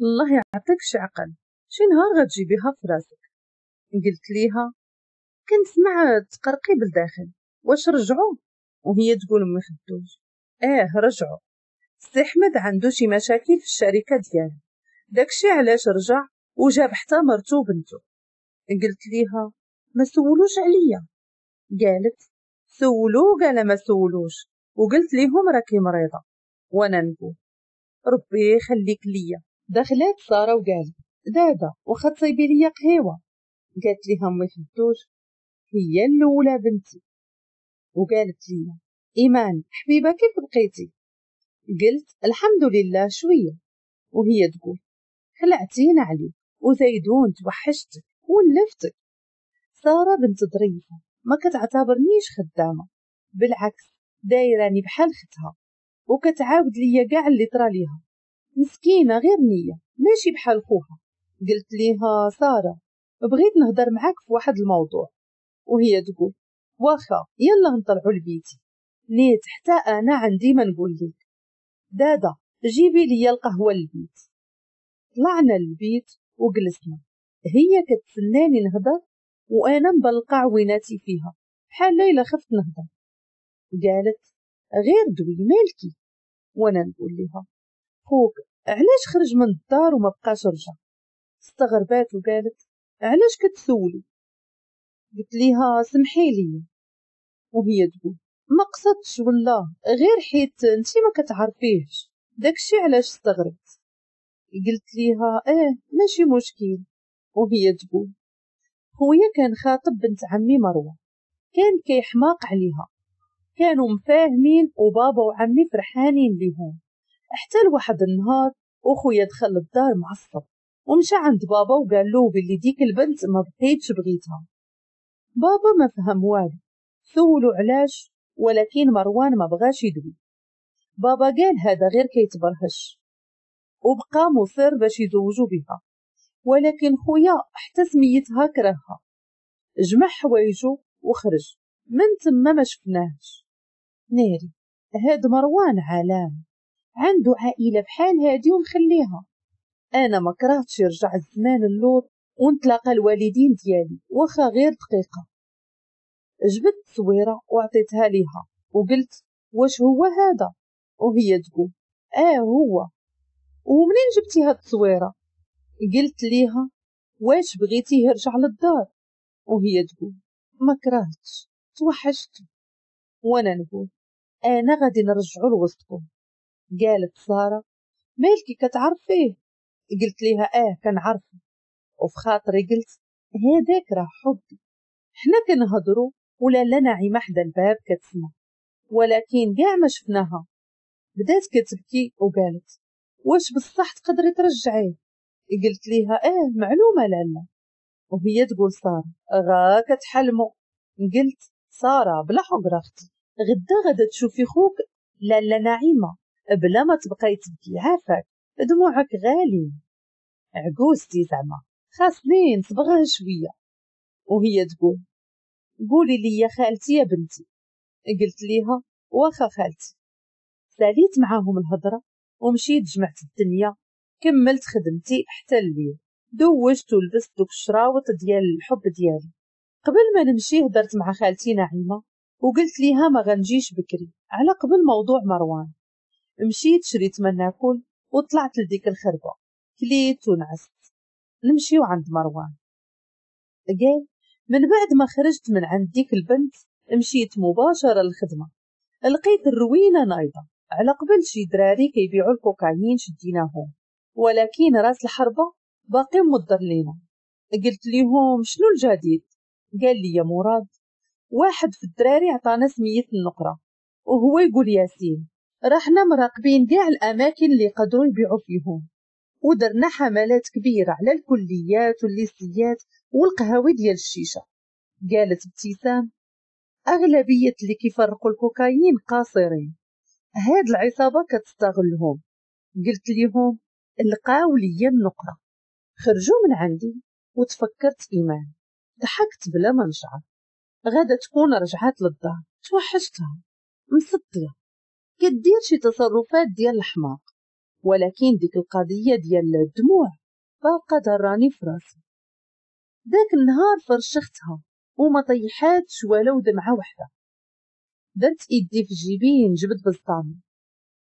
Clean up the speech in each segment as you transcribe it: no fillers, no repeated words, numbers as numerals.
الله يعطيك شي عقل، شي نهار غتجيبيها في راسك. قلت ليها كنسمع تقرقي بالداخل، واش رجعوا؟ وهي تقول امي خدوج اه رجعوا، سي احمد عنده شي مشاكل في الشركة ديالو، داكشي علاش رجع وجاب حتى مرتو وبنتو. قلت ليها ما سولوش عليا؟ قالت سولو، قال ما سولوش، وقلت ليهم راكي مريضه. وانا نقول ربي يخليك ليا. دخلات ساره وقالت دادا واخا تصايبي ليا قهيوه؟ قالت ليها امي خدوج هي الاولى بنتي. وقالت لي ايمان حبيبه كيف بقيتي؟ قلت الحمد لله شوية. وهي تقول خلعتينا عليك وزيدون توحشتك ولفتك. ساره بنت ظريفة ما كتعتبرنيش خدامه، بالعكس دايراني بحال ختها وكتعاود ليا كاع اللي طرا ليها، مسكينه غير نيه ماشي بحال خوها. قلت ليها ساره بغيت نهضر معاك في واحد الموضوع. وهي تقول واخا يلا نطلعوا لبيتي، نيت حتى انا عندي ما نقول لك. دادا جيبي لي القهوة للبيت. طلعنا للبيت وجلسنا، هي كتسناني نهضر وانا مبلقه عويناتي فيها بحال ليلى خفت نهضر. قالت غير دوي مالكي؟ وانا نقول لها خوك علاش خرج من الدار وما بقاش رجع؟ استغربات وقالت علاش كتسولي؟ قلت ليها سمحي لي. وهي تقول ما قصدتش والله، غير حيت انتي ما كتعرفيهش داكشي علاش استغربت. قلت ليها اه ماشي مشكل. وهي تقول خويا كان خاطب بنت عمي مروه، كان كيحماق عليها، كانوا مفاهمين وبابا وعمي فرحانين ليهم. حتى لواحد النهار وخويا دخل للدار معصب ومشى عند بابا وقال له باللي ديك البنت ما بقيتش بغيتها. بابا ما فهم والو، سولو علاش، ولكن مروان ما بغاش يدوي. بابا قال هذا غير كيتبرهش، وبقى مصر باش يزوجوا بها، ولكن خويا حتى سميتها كرهها. جمع حوايجو وخرج من تما ما شفناهش. ناري هاد مروان عالم، عنده عائلة بحال هادي ومخليها. انا ما كرهتش يرجع الزمان اللور ونتلاقى الوالدين ديالي واخا غير دقيقة. جبت تصويره وعطيتها ليها وقلت واش هو هذا؟ وهي تقول اه هو. ومنين جبتي هاد التصويره؟ قلت ليها واش بغيتيه يرجع للدار؟ وهي تقول ما كرهتش توحشت. وانا نقول انا غادي نرجعو لوسطكم. قالت ساره مالكي كتعرفيه؟ قلت ليها اه كنعرفه. وفي خاطري قلت هذاك راه حبي. حنا كنهضروا ولا لا نعيمه حدا الباب كتسمع، ولكن كاع ما شفناها. بدات كتبكي وقالت واش بصح تقدري ترجعيه؟ قلت ليها اه معلومة لالا. وهي تقول ساره غا كتحلمو. قلت ساره بلا حقره اختي، غدا غدا تشوفي خوك لالا نعيمه بلا ما تبقاي تبكي، عافاك دموعك غاليين. عجوزتي زعما خاصني نصبغها شوية. وهي تقول قولي لي يا خالتي يا بنتي. قلت ليها واخا خالتي. ساليت معاهم الهضرة ومشيت جمعت الدنيا، كملت خدمتي حتى الليل، دوجت ولبست دوك الشراوط ديال الحب ديالي. قبل ما نمشي هضرت مع خالتي نعيمه وقلت ليها ما غنجيش بكري على قبل موضوع مروان. مشيت شريت ما ناكل وطلعت لديك الخربه، كليت ونعست. نمشيو عند مروان. قال من بعد ما خرجت من عند ديك البنت مشيت مباشرة للخدمة، لقيت الروينه نايضه على قبل شي دراري كيبيعوا الكوكايين شديناهم، ولكن راس الحربة باقي مضر لينا. قلت ليهم شنو الجديد؟ قال لي يا مراد واحد في الدراري عطانا سميه النقره، وهو يقول ياسين رحنا مراقبين كاع الاماكن اللي قدروا يبيعوا فيهم، ودرنا حملات كبيرة على الكليات والليسيات والقهاوي ديال الشيشة. قالت ابتسام اغلبية اللي كيفرقوا الكوكايين قاصرين، هاد العصابة كتستغلهم. قلت ليهم لقاو ليا النقره. خرجوا من عندي وتفكرت ايمان، ضحكت بلا ما نشعر. غادا تكون رجعت للدار، توحشتها مسطيه كدير شي تصرفات ديال الحماق. ولكن ديك القضية ديال الدموع باقا ضراني في راسي. داك النهار فرشختها وما طيحاتش ولو دمعه وحده. درت ايدي في جيبي نجبد بزطامي،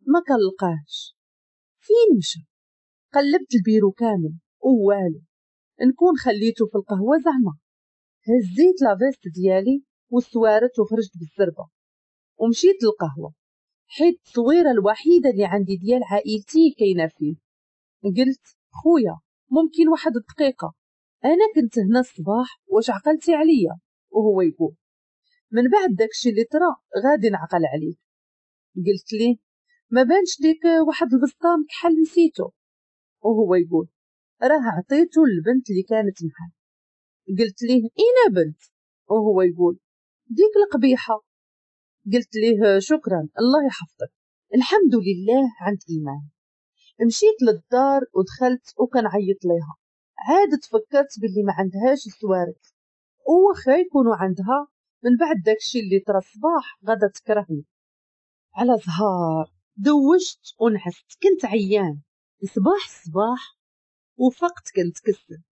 ما كنلقاهش. فين مشى؟ قلبت البيرو كامل ووالو، نكون خليته في القهوة زعما. هزيت la veste ديالي والسوارت وخرجت بالزربه ومشيت للقهوة، حيت التصويره الوحيدة اللي عندي ديال عائلتي كاينه فيه. قلت خويا ممكن واحد الدقيقة، انا كنت هنا الصباح واش عقلتي عليا؟ وهو يقول من بعد داكشي اللي طرا غادي نعقل عليك. قلت ليه ما بانش ليك واحد البسطام كحل نسيتو؟ وهو يقول راه عطيتو للبنت اللي كانت معاه. قلت ليه اين بنت؟ وهو يقول ديك القبيحة. قلت ليه شكرا الله يحفظك. الحمد لله عند ايمان. مشيت للدار ودخلت وكنعيط ليها. عاد تفكرت باللي ما عندهاش السوارت، وخا يكونوا عندها من بعد داكشي اللي طرا الصباح غادا تكرهني. على زهار دوشت ونعست، كنت عيان. صباح الصباح وفقت كنت كسل.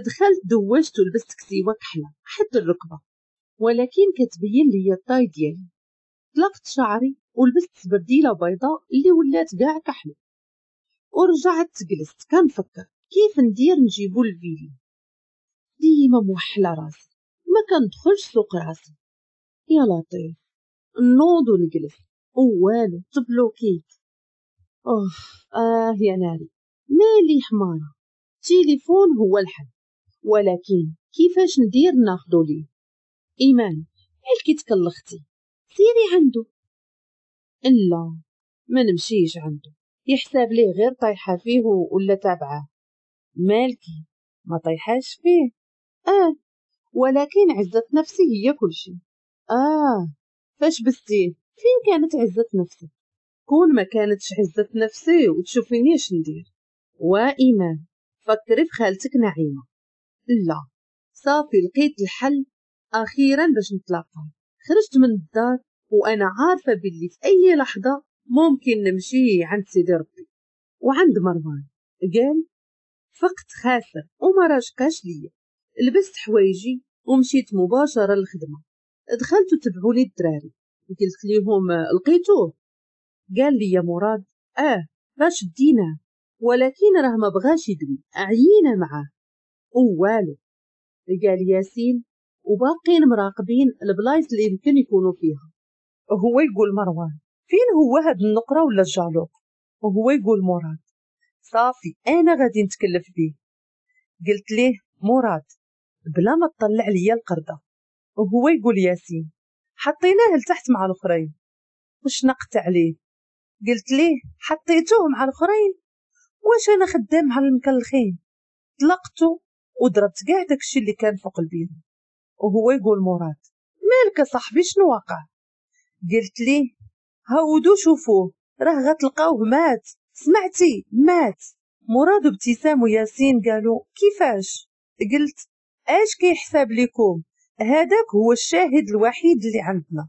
دخلت دوشت ولبست كسيوه كحلة حد الركبة، ولكن كتبين لي ال taille ديالي. طلقت شعري ولبست سبرديله بيضاء اللي ولات كاع كحلة، ورجعت جلست كنفكر كيف ندير نجيبو الفيلا. ديما موحله راسي، ما كندخلش سوق راسي. يا لطيف، نوض ونجلس ووالو تبلوكيت. اوه اه يا ناري، مالي حماره. تليفون هو الحل، ولكن كيفاش ندير ناخدو ليه؟ ايمان مالكي تكلختي؟ سيري عنده. لا ما نمشيش عنده، يحساب ليه غير طايحة فيه ولا تابعه. مالكي ما طيحاش فيه؟ ولكن عزة نفسي هي كل شيء. فاش بستيه؟ فين كانت عزة نفسك؟ كون ما كانتش عزة نفسي وتشوفيني اش ندير. وإيمان فكري في خالتك نعيمة. لا صافي لقيت الحل أخيرا باش نتلاقى. خرجت من الدار وأنا عارفة باللي في أي لحظة ممكن نمشي عند سيدي ربي وعند مروان. قال فقت خاسر وما راشقاش ليا. لبست حوايجي ومشيت مباشرة للخدمة. دخلت وتبعوا لي الدراري، قلت ليهم لقيتوه؟ قال لي يا مراد راه شديناه، ولكن راه ما بغاش يدوي، عيينا معاه ووالو. قال ياسين وباقين مراقبين البلايص اللي يمكن يكونوا فيها. وهو يقول مروان فين هو هاد النقرة ولا الجالوق؟ وهو يقول مراد صافي انا غادي نتكلف بيه. قلت ليه مراد بلا ما تطلع ليا القردة. وهو يقول ياسين حطيناه لتحت مع الاخرين. وشنقت عليه قلت ليه حطيتوه مع الاخرين؟ واش انا خدام مع المكلخين؟ طلقته وضربت كاع داكشي اللي كان فوق البيرو. وهو يقول مراد مالك صاحبي شنو واقع؟ قلت ليه هودو شوفوه راه غتلقاوه مات، سمعتي مات. مراد وابتسام وياسين قالوا كيفاش؟ قلت اش كيحساب لكم؟ هذاك هو الشاهد الوحيد اللي عندنا،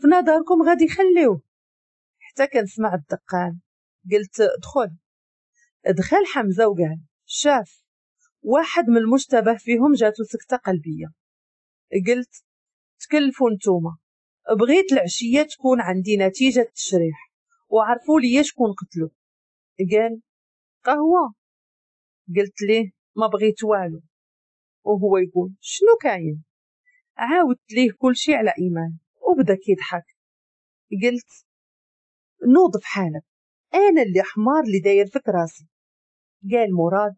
في نظركم غادي يخليوه؟ حتى كنسمع الدقان قلت دخل. دخل حمزة وقال شاف واحد من المشتبه فيهم جاتو سكتة قلبية. قلت تكلفوا نتوما، بغيت العشية تكون عندي نتيجة التشريح وعرفوا لي شكون قتلو. قال قهوة. قلت ليه ما بغيت والو. وهو يقول شنو كاين؟ عاودت ليه كل شيء على ايمان وبدا كيضحك. قلت نوض في حالك، انا اللي حمار اللي داير فيك راسي. قال مراد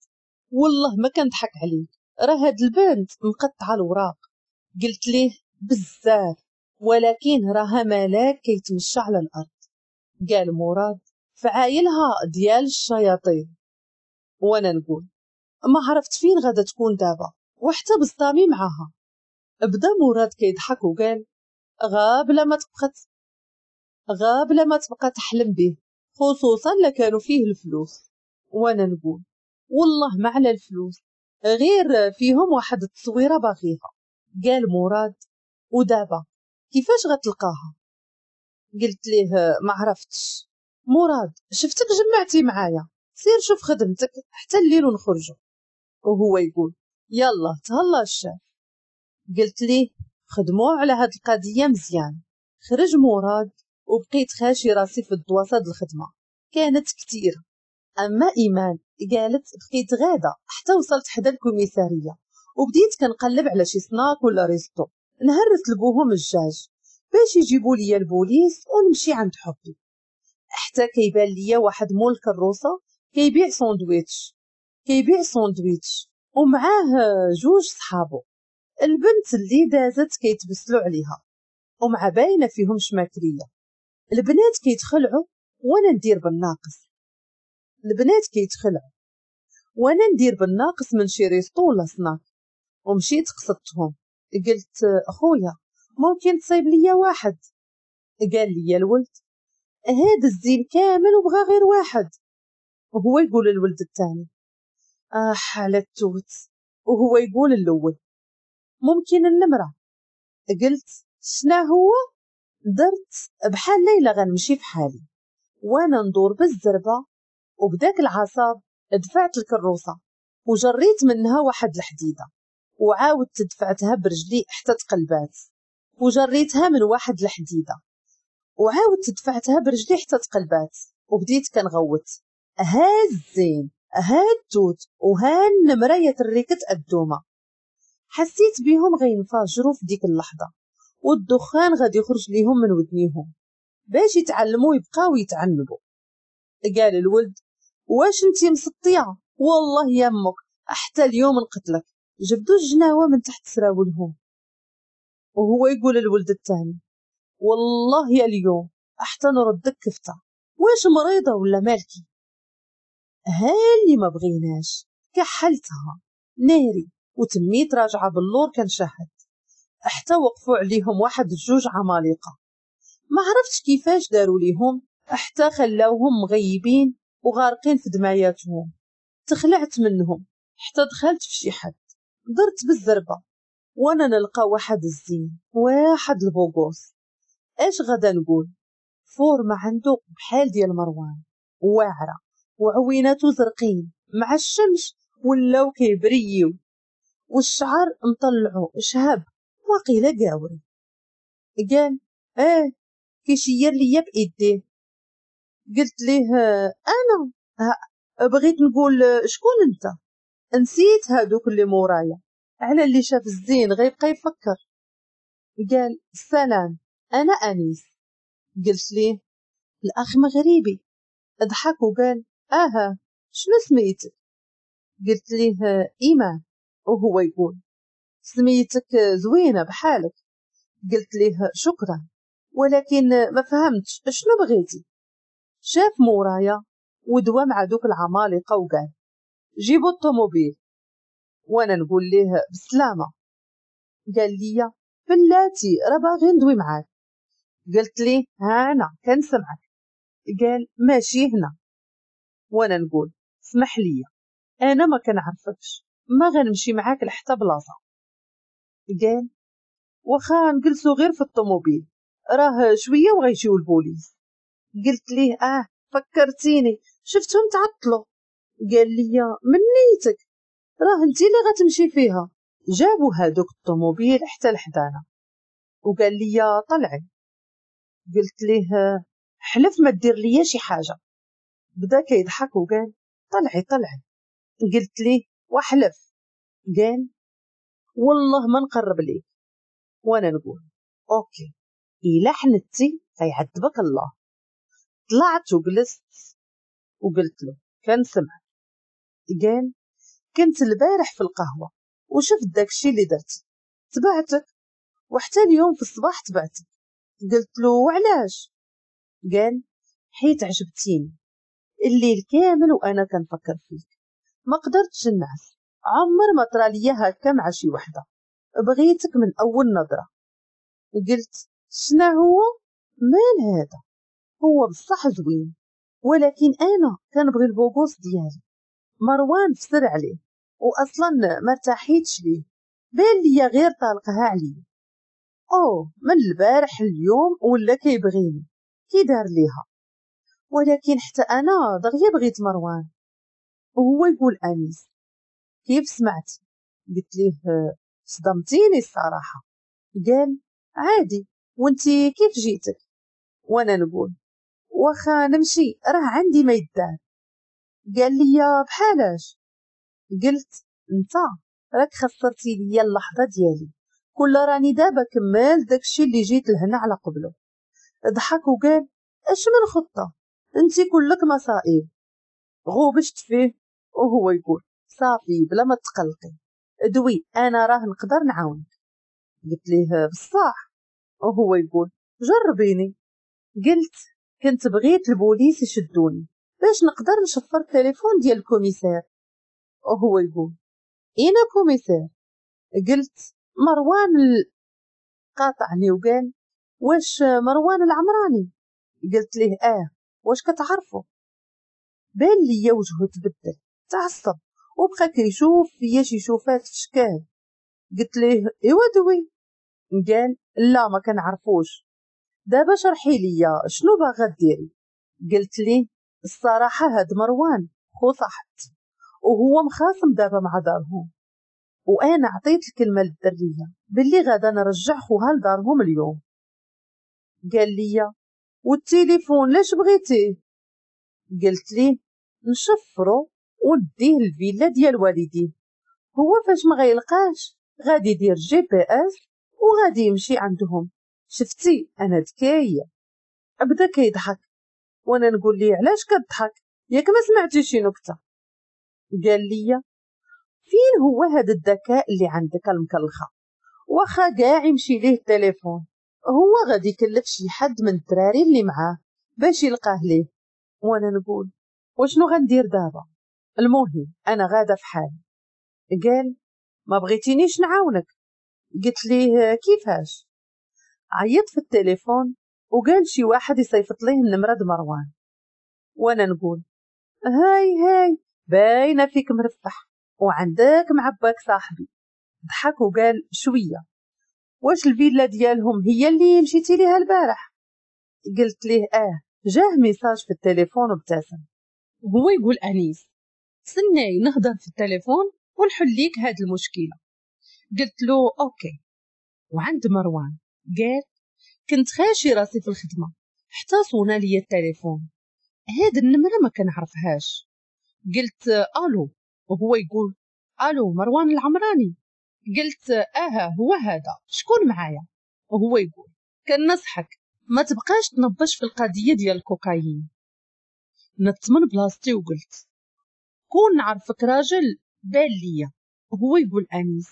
والله ما كنضحك عليك، راه هاد البنت مقطعه الوراق. قلت ليه بزاف، ولكن راها ملاك كيتمشى على الارض. قال مراد فعايلها ديال الشياطين. وانا نقول ما عرفت فين غادا تكون دابا، وحتى بسطامي معاها. بدا مراد كيضحك وقال غابله ما تبقى تحلم به، خصوصا لكانوا فيه الفلوس. وانا نقول والله ما على الفلوس، غير فيهم واحد التصويره باغيها. قال مراد ودابا كيفاش غتلقاها؟ قلت ليه ما عرفتش. مراد شفتك جمعتي معايا، سير شوف خدمتك حتى الليل ونخرجوا. وهو يقول يلا تهلا الشاف. قلت ليه خدموا على هاد القضية مزيان. خرج مراد وبقيت خاشي راسي في الدواسه د الخدمة، كانت كثيرة. اما ايمان قالت بقيت غاده حتى وصلت حدا الكوميساريه وبديت كنقلب على شي سناك ولا resto نهرس لبوهم الدجاج باش يجيبوا لي البوليس ونمشي عند حبي. حتى كيبان ليا واحد مول الكروسه كيبيع ساندويتش ومعاه جوج صحابو. البنت اللي دازت كيتبسلوا عليها ومع باينة فيهم شماكريه. البنات كيتخلعوا وانا ندير بالناقص. من شي resto ولا سناك. ومشيت قصدتهم، قلت خويا ممكن تصايب ليا واحد؟ قال لي الولد هاد الزين كامل وبغى غير واحد. وهو يقول الولد الثاني على التوت. وهو يقول الاول ممكن النمرة؟ قلت شنا هو؟ درت بحال ليلى غنمشي في حالي وانا ندور بالزربه، وبداك العصاب دفعت الكروسه وجريت منها واحد الحديدة وعاودت دفعتها برجلي حتى تقلبات، وجريتها من واحد الحديدة وعاودت دفعتها برجلي حتى تقلبات، وبديت كنغوت ها الزين ها التوت وها النمرة يا تريكت الدومه. حسيت بيهم غينفجروا في ديك اللحظة والدخان غادي يخرج ليهم من ودنيهم باش يتعلموا يبقاو يتعنبوا. قال الولد واش انتي مسطيه؟ والله يا امك حتى اليوم نقتلك. جبدوا الجناوه من تحت سراولهم. وهو يقول الولد الثاني والله يا اليوم حتى نردك كفته، واش مريضه ولا مالكي؟ هالي ما بغيناش كحلتها ناري. وتميت راجعه باللور كنشهد حتى وقفوا عليهم واحد جوج عمالقة ما عرفتش كيفاش داروا ليهم حتى خلاوهم مغيبين وغارقين في دماياتهم. تخلعت منهم حتى دخلت في شي حد، درت بالزربه وانا نلقى واحد الزين واحد ال beau gosse. اش غادا نقول؟ forme عنده بحال ديال مروان، واعرة وعويناتو زرقين مع الشمس ولاو كيبريو، والشعر مطلعو شهب وقيله قاوري. قال ايه كيشير ليا بايديه. قلت ليه انا بغيت نقول شكون انت؟ نسيت هادوك اللي مورايا على اللي شاف الزين غيبقى يفكر. قال السلام انا انيس. قلت ليه الاخ مغربي. ضحك وقال اها شنو سميتك؟ قلت ليه ايمان. وهو يقول سميتك زوينة بحالك. قلت ليه شكرا ولكن ما فهمتش شنو بغيتي. شاف مورايا ودوا مع دوك العمالقة وقال جيبوا الطوموبيل. وانا نقول ليه بسلامه. قال لي بلاتي راه باغي ندوي معاك. قلت ليه ها انا كنسمعك. قال ماشي هنا. وانا نقول اسمح لي انا ما كنعرفكش، ما غنمشي معاك لحتى بلاصة. قال واخا نجلسو غير في الطوموبيل راه شوية وغيجيو البوليس. قلت ليه فكرتيني شفتهم تعطلوا. قال لي من نيتك راه انت اللي غتمشي فيها. جابوا هادوك الطوموبيل حتى لحدانا وقال لي طلعي. قلت ليه حلف ما دير ليا شي حاجة. بدا كيضحك وقال طلعي طلعي. قلت ليه وحلف. قال والله ما نقرب ليك. وانا نقول OK الا حنتي غيعذبك الله. طلعت وجلست وقلت له كنسمع. قال كنت البارح في القهوة وشفت داكشي اللي درتي، تبعتك وحتى اليوم في الصباح تبعتك. قلت له وعلاش؟ قال حيت عجبتيني الليل كامل وانا كنفكر فيك، ما قدرتش نعس، عمر ما طرا ليا هكا مع شي وحده، بغيتك من اول نظره. قلت شنا هو؟ مال هذا؟ هو بصح زوين ولكن انا كنبغي ال beau gosse ديالي. مروان فسر عليه واصلا ما ارتاحيتش ليه، بان ليا غير طالقها عليا. او من البارح اليوم ولا كيبغيني، كي دار ليها. ولكن حتى انا دغيا بغيت مروان. وهو يقول انيس كيف سمعت؟ قلت ليه صدمتيني الصراحة. قال عادي، وانتي كيف جيتك؟ وانا نقول واخا نمشي راه عندي ما يدار. قال لي بحالاش؟ قلت انت راك خسرتي ليا اللحظة ديالي، كل راني دابا كمل داكشي اللي جيت لهنا على قبله. ضحك وقال اش من خطه، انت كلك مصائب. غوبشت فيه وهو يقول صافي بلا ما تقلقي، دوي انا راه نقدر نعاونك. قلت ليه بصح؟ وهو يقول جربيني. قلت كنت بغيت البوليس يشدوني باش نقدر نشفر التليفون ديال ال commissaire. وهو يقول اين commissaire؟ قلت مروان قاطعني وقال واش مروان العمراني؟ قلت ليه اه، واش كتعرفو؟ بان ليا وجهه تبدل، تعصب وبقى كيشوف فيا شي شوفات في شكال. قلت ليه ايوا دوي. قال لا ما كنعرفوش. دابا شرحي ليا شنو باغا ديري. قلت ليه الصراحة هاد مروان خو صاحبتي وهو مخاصم دابا مع دارهم، وانا عطيت الكلمة للدريه باللي غادا نرجع خوها لدارهم اليوم. قال لي والتليفون لاش بغيتيه؟ قلت ليه نشفرو ونديه الفيلا ديال والديه، هو فاش ما غيلقاش غادي يدير GPS وغادي يمشي عندهم. شفتي انا ذكية. بدا كيضحك وانا نقول ليه علاش كتضحك، ياك ما سمعتي شي نكتة؟ قال لي فين هو هذا الذكاء اللي عندك المكلخه؟ واخا كاع يمشي ليه التليفون هو غادي يكلف شي حد من الدراري اللي معاه باش يلقاه ليه. وانا نقول وشنو غندير دابا؟ المهم انا غاده في حالي. قال ما بغيتينيش نعاونك؟ قلت ليه كيفاش؟ عيط في التليفون وقال شي واحد يصيفط ليه النمرة د مروان. وانا نقول هاي هاي باينة فيك مرفح وعندك معباك صاحبي. ضحك وقال شوية واش الفيلا ديالهم هي اللي مشيتي ليها البارح؟ قلت ليه اه. جاه message في التليفون وابتسم. وهو يقول انيس سناي نهضر في التليفون ونحل ليك هاد المشكلة. قلت له OK. وعند مروان قال كنت خاشي راسي في الخدمة حتى صونا لي التليفون، هاد النمرة ما كنعرفهاش. قلت الو، وهو يقول الو مروان العمراني. قلت اه هو هذا، شكون معايا؟ وهو يقول كنصحك ما تبقاش تنبش في القضية ديال الكوكايين. نط من بلاصتي وقلت كون نعرفك راجل بان ليا. وهو يقول انيس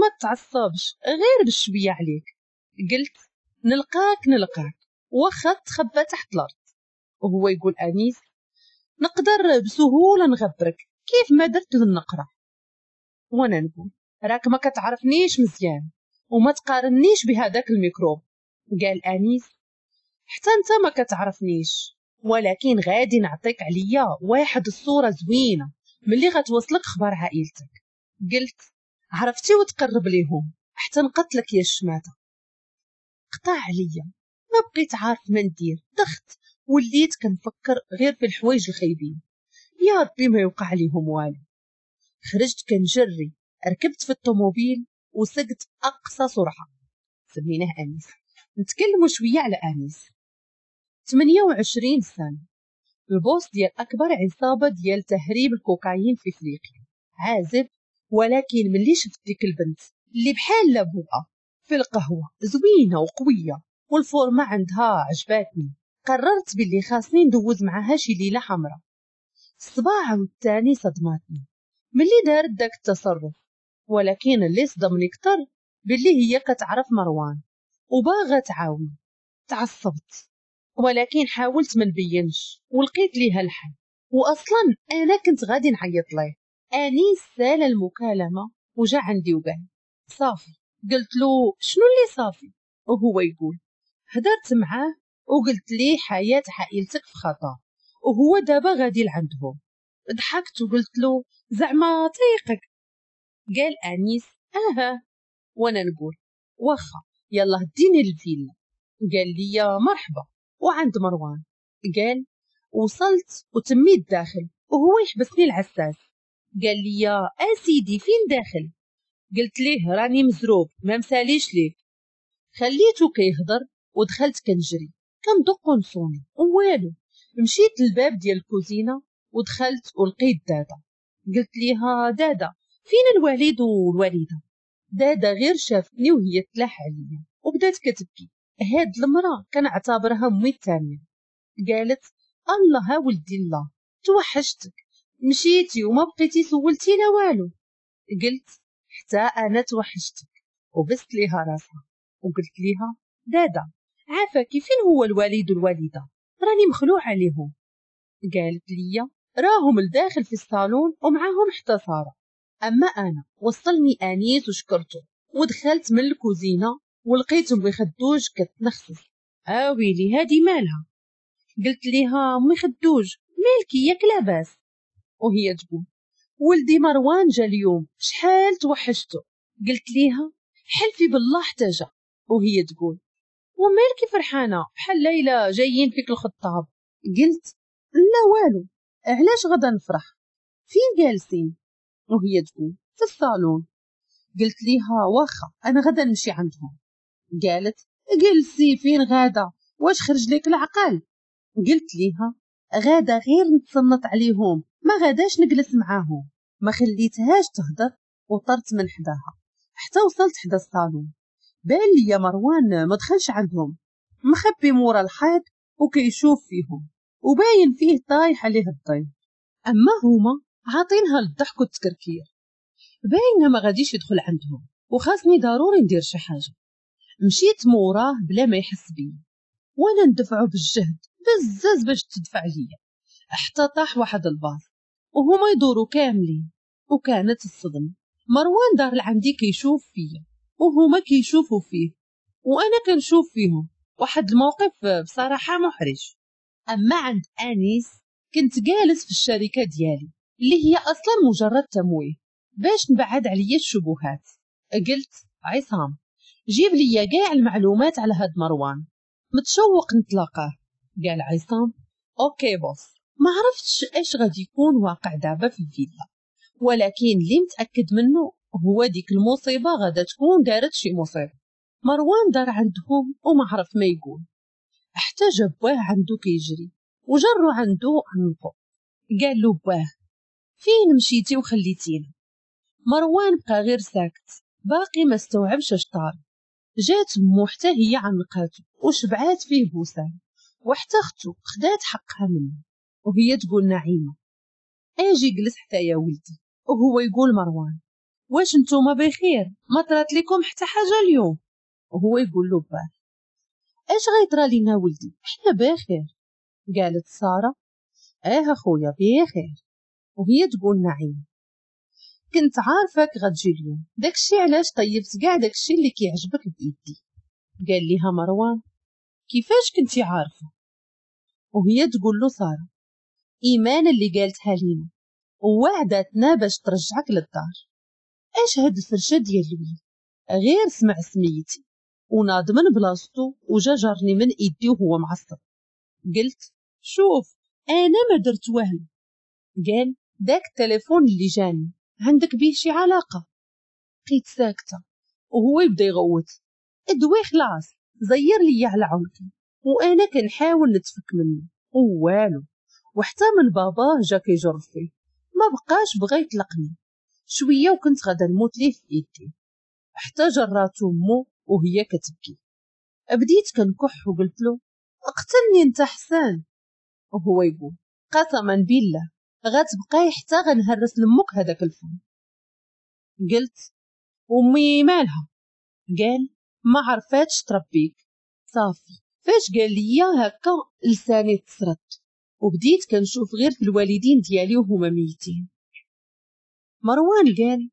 ما تعصبش غير بالشويه عليك. قلت نلقاك نلقاك واخا تخبى تحت الارض. وهو يقول انيس نقدر بسهولة نغبرك كيف ما درت للنقره. وانا نقول راك ما كتعرفنيش مزيان وما تقارنيش بهذاك الميكروب. قال انيس حتى انت ما كتعرفنيش، ولكن غادي نعطيك عليا واحد الصورة زوينة ملي غتوصلك خبر عائلتك. قلت عرفتي وتقرب ليهم حتى نقتلك يا الشماته. قطع عليا، ما بقيت عارف ما ندير، دخت وليت كنفكر غير في الحوايج الخايبين، يا ربي ما يوقع ليهم والو. خرجت كنجري، ركبت في الطوموبيل وسقت اقصى سرعة. سميناه انيس. نتكلموا شوية على انيس. 28 سنة، ال boss ديال اكبر عصابة ديال تهريب الكوكايين في افريقيا، عازب. ولكن ملي شفت ديك البنت اللي بحال لبوقه في القهوة زوينة وقويه والفورمه عندها عجباتني، قررت باللي خاصني ندوز معاها شي ليلة حمراء. الصباح والثاني صدماتني ملي دارت داك التصرف، ولكن اللي صدمني كتر باللي هي كتعرف مروان وباغا تعاون. تعصبت ولكن حاولت ما نبينش ولقيت ليها الحل، واصلا انا كنت غادي نعيط ليه. انيس سال المكالمة وجا عندي وقال صافي. قلت له شنو اللي صافي؟ وهو يقول هدرت معاه وقلت ليه حياة عائلتك في خطر وهو دابا غادي لعندهم. ضحكت وقلت له زعما طريقك. قال انيس اها. وانا نقول واخا يلا ديني الفيلا. قال لي مرحبا. وعند مروان قال وصلت وتميت داخل وهو يحبسني العساس. قال لي اسيدي فين داخل؟ قلت ليه راني مزروب ما مساليش ليك. خليته كيهضر ودخلت كنجري كندق ونصوني ووالو. مشيت للباب ديال الكوزينة ودخلت ولقيت دادا. قلت ليها دادا فين الوالد والوالدة؟ دادا غير شافتني وهي تلاح عليا وبدات كتبكي. هاد المراة كنعتبرها امي الثانية. قالت الله ها ولدي الله توحشتك، مشيتي وما بقيتي سولتي لا والو. قلت حتى انا توحشتك، وبست ليها راسها وقلت ليها دادا عافاكي فين هو الوالد والوالدة؟ راني مخلوع عليهم. قالت لي راهم لداخل في الصالون ومعاهم حتى ساره. اما انا وصلني انيس وشكرته ودخلت من الكوزينة ولقيت امي خدوج كتنخسس. اويلي هادي مالها؟ قلت ليها امي خدوج مالكي ياك لاباس؟ وهي تقول ولدي مروان جا اليوم شحال توحشته. قلت ليها حلفي بالله حتى جا. وهي تقول ومالكي فرحانة بحال ليلى جايين فيك الخطاب؟ قلت لا والو علاش غدا نفرح، فين جالسين؟ وهي تقول في الصالون. قلت ليها واخا انا غدا نمشي عندهم. قالت جلسي فين غاده، واش خرج لك العقل؟ قلت ليها غاده غير نتصنت عليهم ما غاداش نجلس معاهم. ما خليتهاش تهدر وطرت من حداها حتى وصلت حدا الصالون. بان لي مروان ما دخلش عندهم، مخبي مورا الحيط وكيشوف فيهم وباين فيه طايح عليه الضيف. اما هما عاطينها للضحك والتكركير، باينة ما غاديش يدخل عندهم وخاصني ضروري ندير شي حاجة. مشيت موراه بلا ما يحس بيا وانا ندفعه بالجهد بزاز باش تدفع ليا حتى طاح واحد الباص وهما يدوروا كاملين. وكانت الصدمة، مروان دار لعندي كيشوف فيا وهما كيشوفوا فيه وانا كنشوف فيهم. واحد الموقف بصراحة محرج. اما عند انيس كنت جالس في الشركة ديالي اللي هي اصلا مجرد تمويه باش نبعد عليا الشبهات. قلت عصام جيب لي كاع المعلومات على هاد مروان، متشوق نتلاقاه. قال عصام OK boss. ما عرفتش اش غادي يكون واقع دابا في الفيلا، ولكن اللي متاكد منه هو ديك المصيبة غادا تكون دارت شي مصيبة. مروان دار عندهم وما عرف ما يقول حتى جا باه عنده كيجري وجرو عنده عنقو. قال له باه فين مشيتي وخليتينا؟ مروان بقى غير ساكت باقي ما استوعبش اش طار. جات مو حتى هي عنقاتو وشبعات فيه بوسان، وحتى اختو خدات حقها منه. وهي تقول نعيمه اجي جلس حتى يا ولدي. وهو يقول مروان واش نتوما بخير، ما طرات لكم حتى حاجة اليوم؟ وهو يقول له باه اش غيطرى لينا ولدي، حنا بخير. قالت ساره اه اخويا بخير. وهي تقول نعيمه كنت عارفاك غتجي اليوم، داكشي علاش طيبت كاع داكشي اللي كيعجبك بايدي. قال ليها مروان كيفاش كنتي عارفه؟ وهي تقول له ساره ايمان اللي قالتها لينا ووعدتنا باش ترجعك للدار. اش هاد الفرشة ديال الولد؟ غير سمع سميتي وناض من بلاصتو وجا جرني من ايدي وهو معصب. قلت شوف انا ما درت والو. قال داك التليفون اللي جاني عندك بيه شي علاقة؟ بقيت ساكته وهو يبدا يغوت ادوي خلاص، زير لي على عنقي وانا كنحاول نتفك منه ووالو. وحتى من باباه جا كيجر فيه ما بقاش بغا يطلقني. شوية وكنت غادا نموت ليه في ايدي حتى جراتو مو وهي كتبكي. بديت كنكح وقلت له اقتلني انت حسان. وهو يقول قسما بالله غتبقاي حتى غنهرس لمك هذاك الفم. قلت امي مالها؟ قال ما عرفاتش تربيك. صافي فاش قال لي هكا لساني تسرط وبديت كنشوف غير في الوالدين ديالي وهما ميتين. مروان قال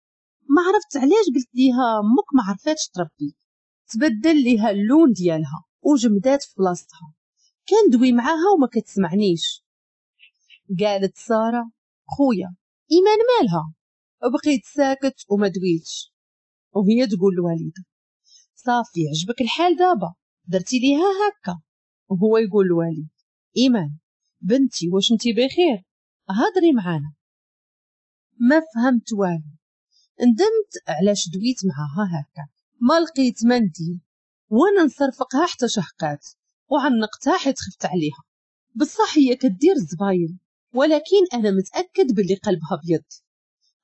ما عرفت علاش قلت ليها امك ما عرفاتش تربيك. تبدل ليها اللون ديالها وجمدات في بلاصتها، كندوي معاها وما كتسمعنيش. قالت ساره خويا ايمان مالها؟ بقيت ساكت وما دويتش. وهي تقول الوالدة صافي عجبك الحال دابا درتي ليها هكا. وهو يقول الوالد ايمان بنتي واش انتي بخير؟ هضري معانا. ما فهمت والو، ندمت علاش دويت معاها هكا، ما لقيت ما ندير وانا نصرفقها حتى شهقات وعنقتها حيت خفت عليها. بصح هي كدير الزباين، ولكن انا متاكد باللي قلبها ابيض.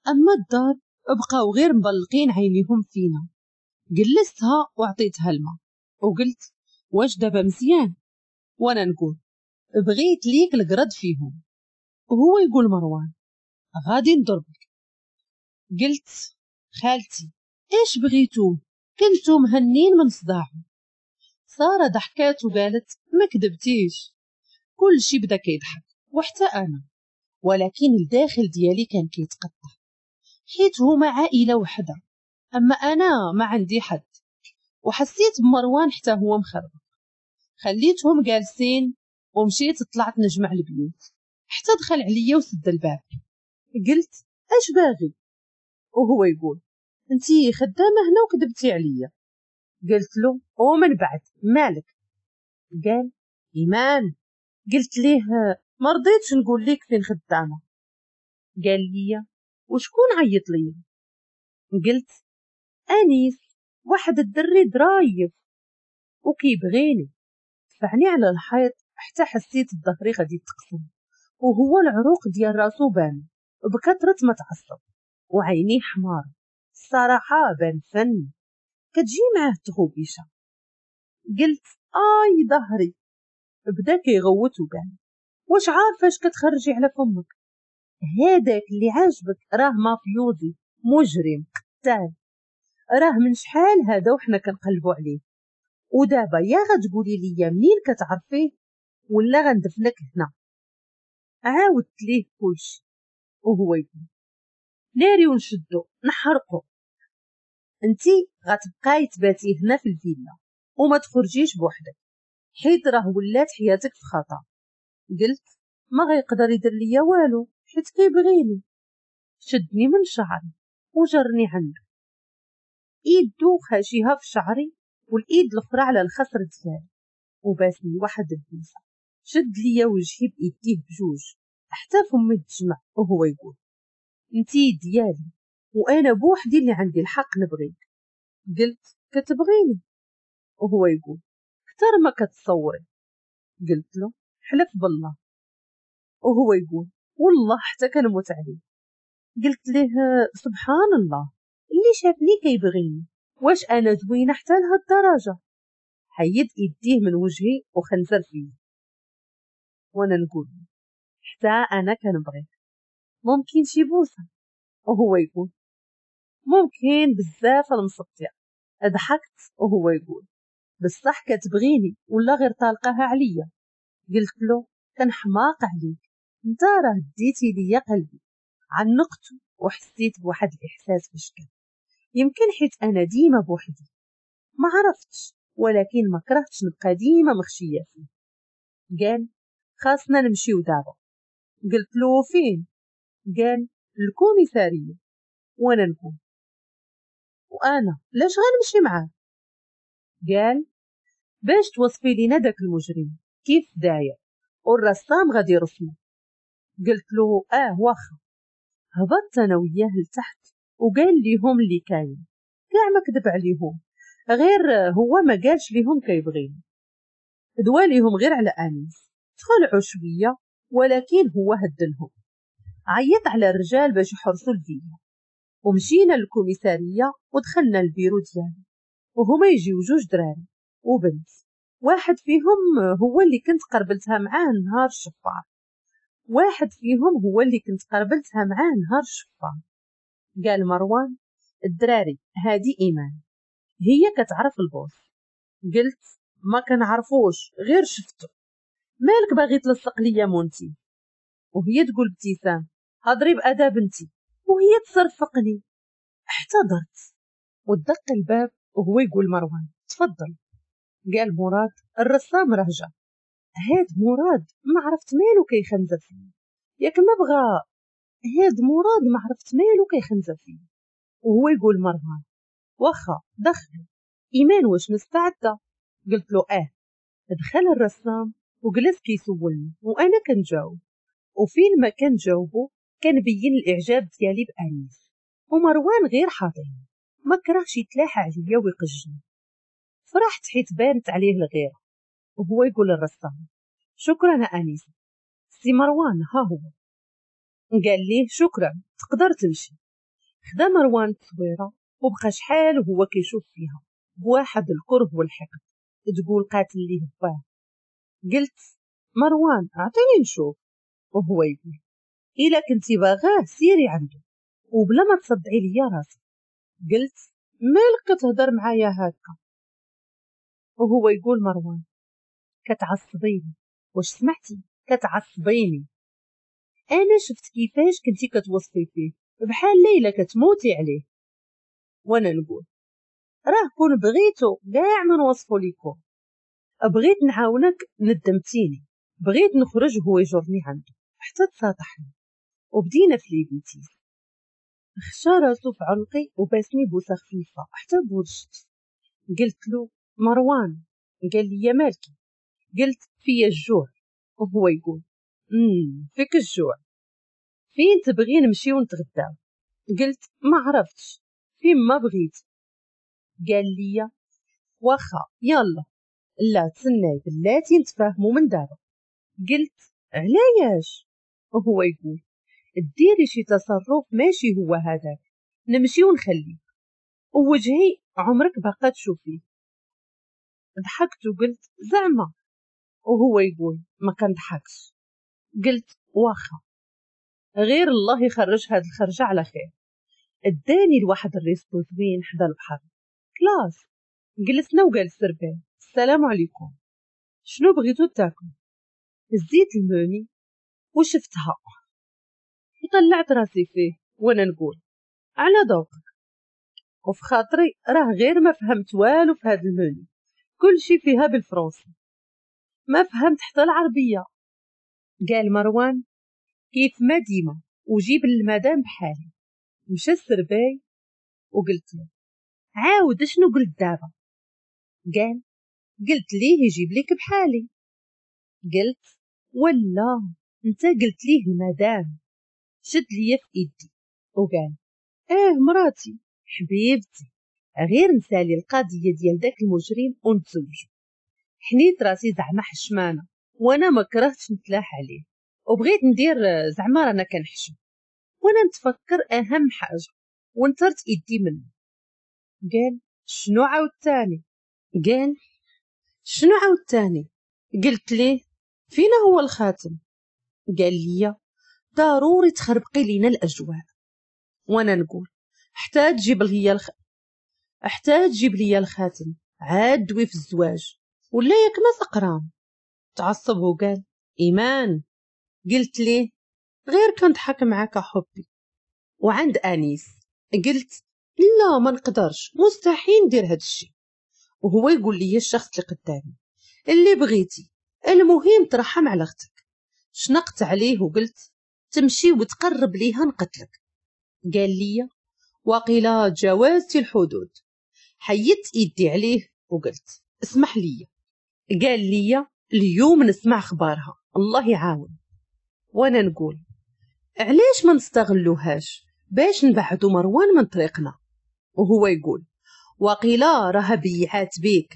اما الدار بقاو غير مبلقين عينيهم فينا. جلستها وعطيتها الماء وقلت واش دابا مزيان؟ وانا نقول بغيت ليك القرد فيهم. وهو يقول مروان غادي نضربك. قلت خالتي ايش بغيتو؟ كنتو مهنين من صداعو. سارة ضحكات وقالت ما كذبتيش. كل شي بدا كيضحك وحتى انا، ولكن الداخل ديالي كان كيتقطع حيت هما عائلة وحده، اما انا ما عندي حد. وحسيت بمروان حتى هو مخرب. خليتهم جالسين ومشيت طلعت نجمع البيوت حتى دخل عليا وسد الباب. قلت اش باغي؟ وهو يقول انتي خدامه هنا وكذبتي عليا. قلت له ومن بعد مالك؟ قال ايمان. قلت ليه ما رضيتش نقول لك فين خدامه. قال لي وشكون عيط لي؟ قلت انيس، واحد الدري درايف وكيبغيني. دفعني على الحيط حتى حسيت بظهري غادي يتقسم، وهو العروق ديال راسو بان بكثرة ما تعصب وعينيه حمار. الصراحة بان فن، كتجي معاه التغوبيشه. قلت اي ظهري. بدا كيغوت وقال واش عارفه اش كتخرجي على فمك؟ هذاك اللي عاجبك راه مافيوزي مجرم قتال، راه من شحال هذا وحنا كنقلبوا عليه. ودابا يا غتقولي لي منين كتعرفيه ولا غندفنك هنا. عاودت ليه كلشي وهو يقول ناري ونشدو نحرقو، انتي غتبقاي تباتي هنا في الفيلا وما تخرجيش بوحدك حيت راه ولات حياتك في خطر. قلت ما غيقدر يدير ليا والو حيت كيبغيني. شدني من شعري وجرني عنده، ايدو خاشيها في شعري والايد الاخرى على الخصر ديالي، وباسني واحد البوسه. شد ليا وجهي بايديه بجوج حتى فمي تجمع، وهو يقول انتي ديالي وانا بوحدي اللي عندي الحق نبغيك. قلت كتبغيني؟ وهو يقول كتر ما كتصوري. قلت له حلف بالله. وهو يقول والله حتى كنموت عليه. قلت له سبحان الله اللي شافني كيبغيني، واش انا زوينة حتى لهاد الدرجة؟ حيد ايديه من وجهي وخنزر فيه، وانا نقول حتى انا كنبغيك، ممكن شي بوسه؟ وهو يقول ممكن بزاف المسطيه. ضحكت وهو يقول بصح كتبغيني ولا غير طالقاها عليا؟ قلت له كنحماق عليك، انت راه ديتي ليا قلبي. عنقته وحسيت بواحد الاحساس بشكل، يمكن حيت انا ديما بوحدي ما عرفتش، ولكن ما كرهتش نبقى ديما مخشيه فيه. قال خاصنا نمشيو دابا. قلت له فين؟ قال الكوميساريه. وانا نقول وانا لاش غنمشي معاه؟ قال باش توصفي لينا داك المجرم كيف داير والرسام غادي يرسمو. قلت له واخا. هبطت انا وياه لتحت وقال ليهم اللي كاين، كاع ما كذب عليهم، غير هو ما قالش ليهم كيبغيني، دواليهم غير على انيس. تخلعوا شوية ولكن هو هدلهم. عيط على الرجال باش يحرسوا الفيلا، ومشينا للكوميساريه ودخلنا البيرو ديالو، وهما يجيو جوج دراري وبنت، واحد فيهم هو اللي كنت قربلتها معاه نهار الشفار، واحد فيهم هو اللي كنت قربلتها معاه نهار الشفار. قال مروان الدراري هادي ايمان، هي كتعرف ال boss. قلت ما كنعرفوش غير شفتو، مالك باغي تلصق ليا مونتي؟ وهي تقول ابتسام هضري بأدب بنتي، وهي تصرفقني. احتضرت ودق الباب وهو يقول مروان تفضل. قال مراد الرسام راه جا. هاد مراد ما عرفت مالو كيخنزر فيه، ياك ما بغى. هاد مراد ما عرفت مالو كيخنزر فيه. وهو يقول مروان واخا دخل. ايمان واش مستعدة؟ قلت له اه. دخل الرسام وجلس كيسولني وانا كنجاوب، وفين ما كنجاوبو كنبين الاعجاب ديالي بانيس. ومروان غير حاضرني، ما كرهش يتلاح عليا ويقجني. فرحت حيت بانت عليه الغيرة. وهو يقول للرسام شكرا انيس. سي مروان ها هو. قال ليه شكرا تقدر تمشي. خدا مروان التصويره وبقى شحال وهو كيشوف فيها بواحد الكره والحقد، تقول قاتل ليه باه. قلت مروان اعطيني نشوف. وهو يقول الا كنتي باغاه سيري عنده وبلا ما تصدعي ليا راسي. قلت مالك كتهضر معايا هكا؟ وهو يقول مروان كتعصبيني، واش سمعتي؟ كتعصبيني. انا شفت كيفاش كنتي كتوصفي فيه بحال ليلى كتموتي عليه. وانا نقول راه كون بغيتو كاع ما نوصفو ليكم، بغيت نعاونك ندمتيني، بغيت نخرج وهو يجرني عنده حتى تساطحني وبدينا في les bêtises. خشى راسو في عنقي وباسني بوسه خفيفة حتى بورشت. قلت له مروان. قال لي يا مالكي؟ قلت فيا الجوع. وهو يقول فيك الجوع، فين تبغي نمشي ونتغداو؟ قلت ما عرفتش، فين ما بغيت. قال لي واخا يلا، لا تسناي بلاتي نتفاهمو من دابا. قلت علاش؟ وهو يقول ديري شي تصرف ماشي هو هذاك، نمشي ونخليك ووجهي عمرك باقا تشوفيه. ضحكت وقلت زعما. وهو يقول ما كنضحكش. قلت واخا، غير الله يخرج هاد الخرجه على خير. اداني لواحد ال resto زوين حدا البحر classe. جلسنا وقال ال serveur السلام عليكم، شنو بغيتو تاكلوا؟ هزيت الموني وشفتها وطلعت راسي فيه وانا نقول على ذوقك. وفي خاطري راه غير ما فهمت والو في هاد الموني، كلشي فيها بالفرنسي، ما فهمت حتى العربية. قال مروان كيف ما ديما وجيب المدام بحالي. مشى ال serveur وقلت له عاود شنو قلت دابا؟ قال قلت ليه يجيب لك بحالي. قلت ولا انت قلت ليه المدام. شد ليا في ايدي وقال ايه مراتي حبيبتي، غير نسالي القضية ديال داك المجرم ونتزوجو. حنيت راسي زعما حشمانه وانا ما كرهتش نتلاح عليه، وبغيت ندير زعما رانا كنحشم، وانا نتفكر اهم حاجة ونترت ايدي منه. قال شنو عاوتاني؟ قال شنو عاوتاني؟ قلت ليه فينا هو الخاتم؟ قال لي ضروري تخربقي لينا الاجواء. وانا نقول حتى تجيب لي الخاتم عاد دوي في الزواج ولا ياك ما سقران. تعصب وقال ايمان. قلت ليه غير كنضحك معاك حبي. وعند انيس قلت لا ما نقدرش، مستحيل ندير هاد الشيء. وهو يقول لي الشخص اللي قدامي اللي بغيتي، المهم ترحم على اختك. شنقت عليه وقلت تمشي وتقرب ليها نقتلك. قال لي وقيلا تجاوزتي الحدود. حيدت ايدي عليه وقلت اسمح لي. قال لي اليوم نسمع اخبارها الله يعاون. وانا نقول علاش ما نستغلوهاش باش نبعدو مروان من طريقنا؟ وهو يقول وقيلا راها بيعات بيك،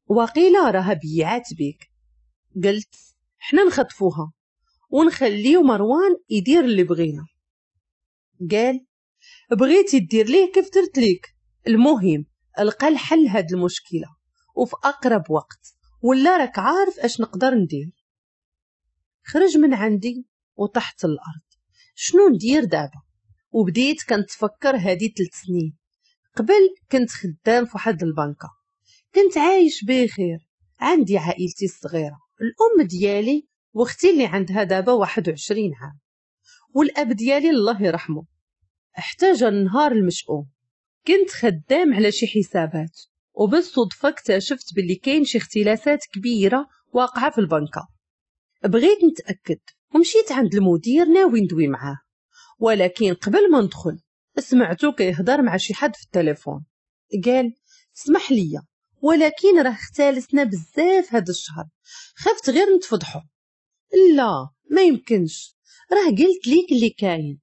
وقيلا راها بيعات بيك. قلت حنا نخطفوها ونخليو مروان يدير اللي بغينا. قال بغيتي دير ليه كيف درت ليك، المهم القى الحل هاد المشكلة وفي اقرب وقت، ولا راك عارف اش نقدر ندير. خرج من عندي وطحت الارض. شنو ندير دابا؟ وبديت كنتفكر هادي 3 سنين قبل كنت خدام في واحد البنكه، كنت عايش بخير، عندي عائلتي الصغيرة، الام ديالي واختي اللي عندها دابا 21 عام، والاب ديالي الله يرحمه. احتاج النهار المشؤوم كنت خدام على شي حسابات، وبالصدفه اكتشفت باللي كاين شي اختلاسات كبيرة واقعه في البنكه. بغيت نتاكد ومشيت عند المدير ناوي ندوي معاه، ولكن قبل ما ندخل سمعته كيهضر مع شي حد في التليفون. قال اسمح لي ولكن راه اختلسنا بزاف هذا الشهر، خفت غير نتفضحوا. لا ما يمكنش، راه قلت ليك اللي كاين.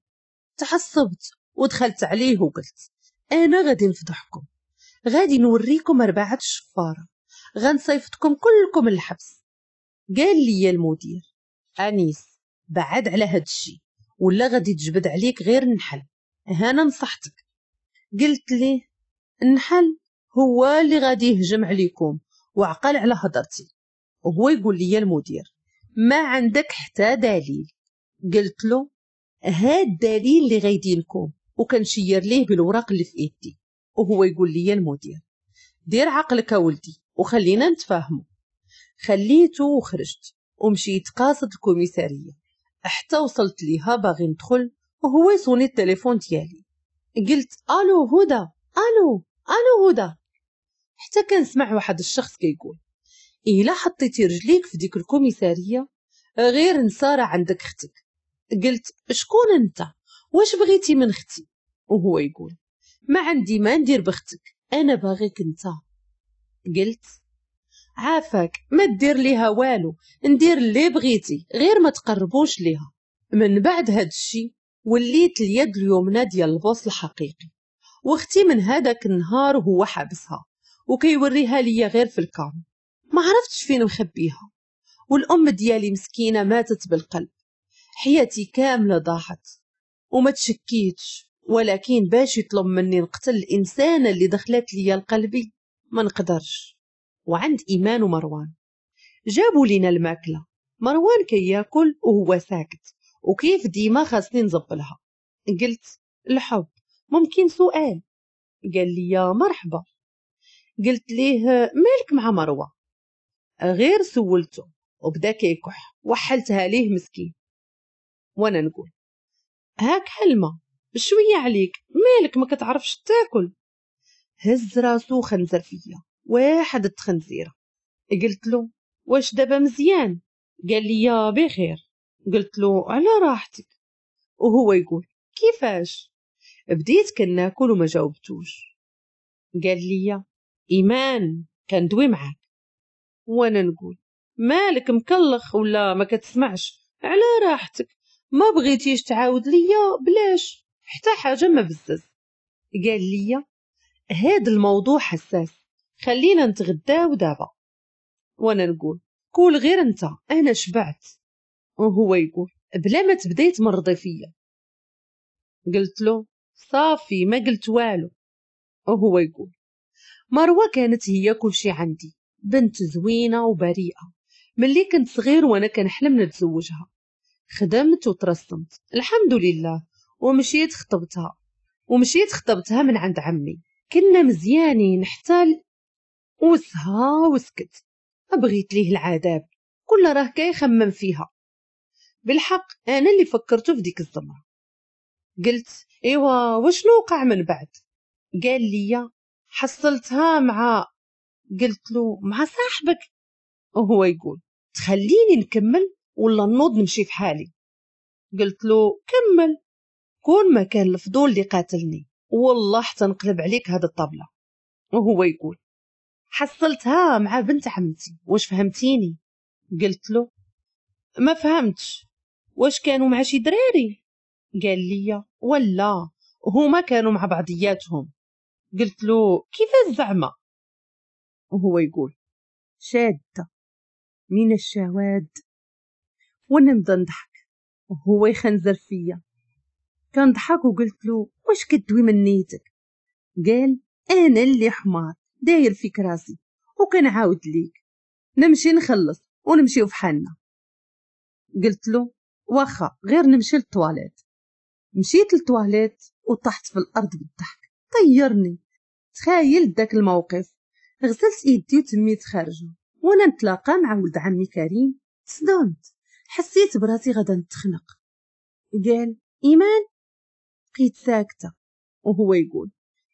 تعصبت ودخلت عليه وقلت انا غادي نفضحكم، غادي نوريكم 4 الشفاره، غنصيفطكم كلكم الحبس. قال لي المدير انيس بعد على هاد الشيء ولا غادي تجبد عليك غير النحل، هانا نصحتك. قلت ليه النحل هو اللي غادي يهجم عليكم، وعقل على هضرتي. وهو يقول لي المدير ما عندك حتى دليل. قلت له هاد الدليل اللي غيدينكم، وكنشير ليه بالوراق اللي في ايدي. وهو يقول لي المدير دير عقلك ولدي وخلينا نتفاهموا. خليته وخرجت ومشيت قاصد الكوميساريه حتى وصلت ليها باغي ندخل، وهو يصوني التليفون ديالي. قلت الو هدى، الو الو هدى، حتى كنسمع واحد الشخص كيقول الا حطيتي رجليك في ديك الكوميساريه غير نساره عندك اختك. قلت شكون انت؟ واش بغيتي من اختي؟ وهو يقول ما عندي ما ندير باختك، انا باغيك انت. قلت عافاك ما دير ليها والو، ندير اللي بغيتي غير ما تقربوش ليها. من بعد هاد الشي وليت اليد اليمنى ديال ال boss الحقيقي، واختي من هذاك النهار وهو حابسها وكيوريها ليا غير في ال cam، ما عرفتش فين مخبيها. والام ديالي مسكينه ماتت بالقلب، حياتي كاملة ضاعت وما تشكيتش، ولكن باش يطلب مني نقتل الانسانة اللي دخلت ليا لقلبي ما نقدرش. وعند ايمان ومروان جابوا لينا الماكلة، مروان كياكل وهو ساكت، وكيف ديما خاصني نزبلها. قلت الحب ممكن سؤال؟ قال لي يا مرحبا. قلت ليه مالك مع مروه؟ غير سولته وبدا كيكح، وحلتها ليه مسكين. وانا نقول هاك حلمه شوية عليك، مالك ما كتعرفش تاكل؟ هز راسو خنزر فيا واحد التخنزيره. قلت له واش دابا مزيان؟ قال لي يا بخير. قلت له على راحتك. وهو يقول كيفاش؟ بديت كناكل وما جاوبتوش. قال لي ايمان كندوي معاك. وانا نقول مالك مكلخ ولا ما كتسمعش؟ على راحتك، ما بغيتيش تعاود ليا بلاش، حتى حاجة ما بزز. قال لي هاد الموضوع حساس، خلينا نتغداو دابا. وانا نقول كول غير انت، انا شبعت. وهو يقول بلا ما تبداي تمرضي فيا. قلت له صافي ما قلت والو. وهو يقول مروه كانت هي كل شي عندي، بنت زوينة وبريئه، ملي كنت صغير وانا كنحلم نتزوجها. خدمت وترسمت الحمد لله، ومشيت خطبتها من عند عمي. كنا مزيانين حتى وسها وسكت، بغيت ليه العذاب كل راه كيخمم فيها. بالحق انا اللي فكرته في ديك الزمره. قلت ايوا وشنو وقع من بعد؟ قال لي حصلتها مع، قلت له مع صاحبك. وهو يقول تخليني نكمل ولا نوض نمشي في حالي؟ قلت له كمل، كون ما كان الفضول اللي قاتلني والله حتى نقلب عليك هذا الطبلة. وهو يقول حصلتها مع بنت عمتي، واش فهمتيني؟ قلت له ما فهمتش، واش كانوا مع شي دراري؟ قال لي ولا هما كانوا مع بعضياتهم. قلت له كيفاش زعما؟ وهو يقول شادة من الشواد. ونبدا نضحك وهو يخنزر فيا. كنضحك وقلت له واش كدوي من نيتك؟ قال انا اللي حمار داير فيك راسي وكنعاود ليك، نمشي نخلص ونمشيو في حالنا. قلت له واخا غير نمشي للطواليت. مشيت للطواليت وطحت في الارض بالضحك، طيرني. تخيل داك الموقف. غسلت ايدي وتميت خارجه وانا نتلاقى مع ولد عمي كريم. صدمت، حسيت براسي غادا نتخنق. قال ايمان؟ بقيت ساكته. وهو يقول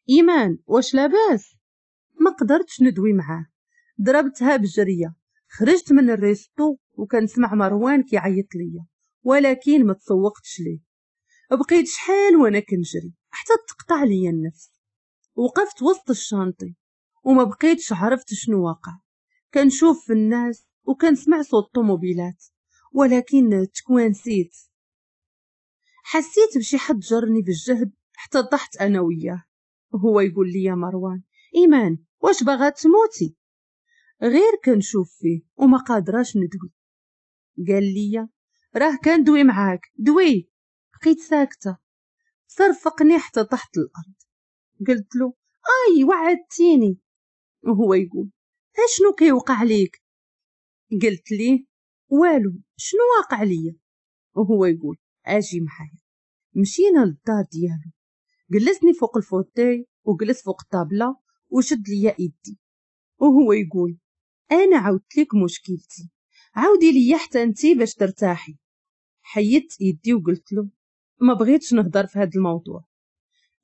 ايمان واش لاباس؟ ما قدرتش ندوي معاه، ضربتها بجريه. خرجت من ال resto وكنسمع مروان كيعيط ليا، ولكن ما تسوقتش ليه. بقيت شحال وانا كنجري حتى تقطع ليا النفس. وقفت وسط ال chantier وما بقيتش عرفت شنو واقع. كنشوف في الناس وكنسمع صوت الطوموبيلات، ولكن تكوانسيت. حسيت بشي حد جرني بالجهد حتى طحت انا وياه. هو يقول لي يا مروان ايمان واش باغا تموتي؟ غير كنشوف فيه وما قادراش ندوي. قال لي راه كندوي معاك دوي. بقيت ساكته. صرفقني حتى طحت الارض. قلت له اي وعدتيني. وهو يقول اشنو كيوقع ليك؟ قلت ليه والو، شنو واقع ليا؟ وهو يقول اجي معايا. مشينا للدار ديالو، جلسني فوق ال fauteuil وجلس فوق الطابله وشد ليا ايدي، وهو يقول انا عاودت لك مشكلتي، عاودي ليا حتى انتي باش ترتاحي. حيدت ايدي وقلت له ما بغيتش نهضر في هذا الموضوع.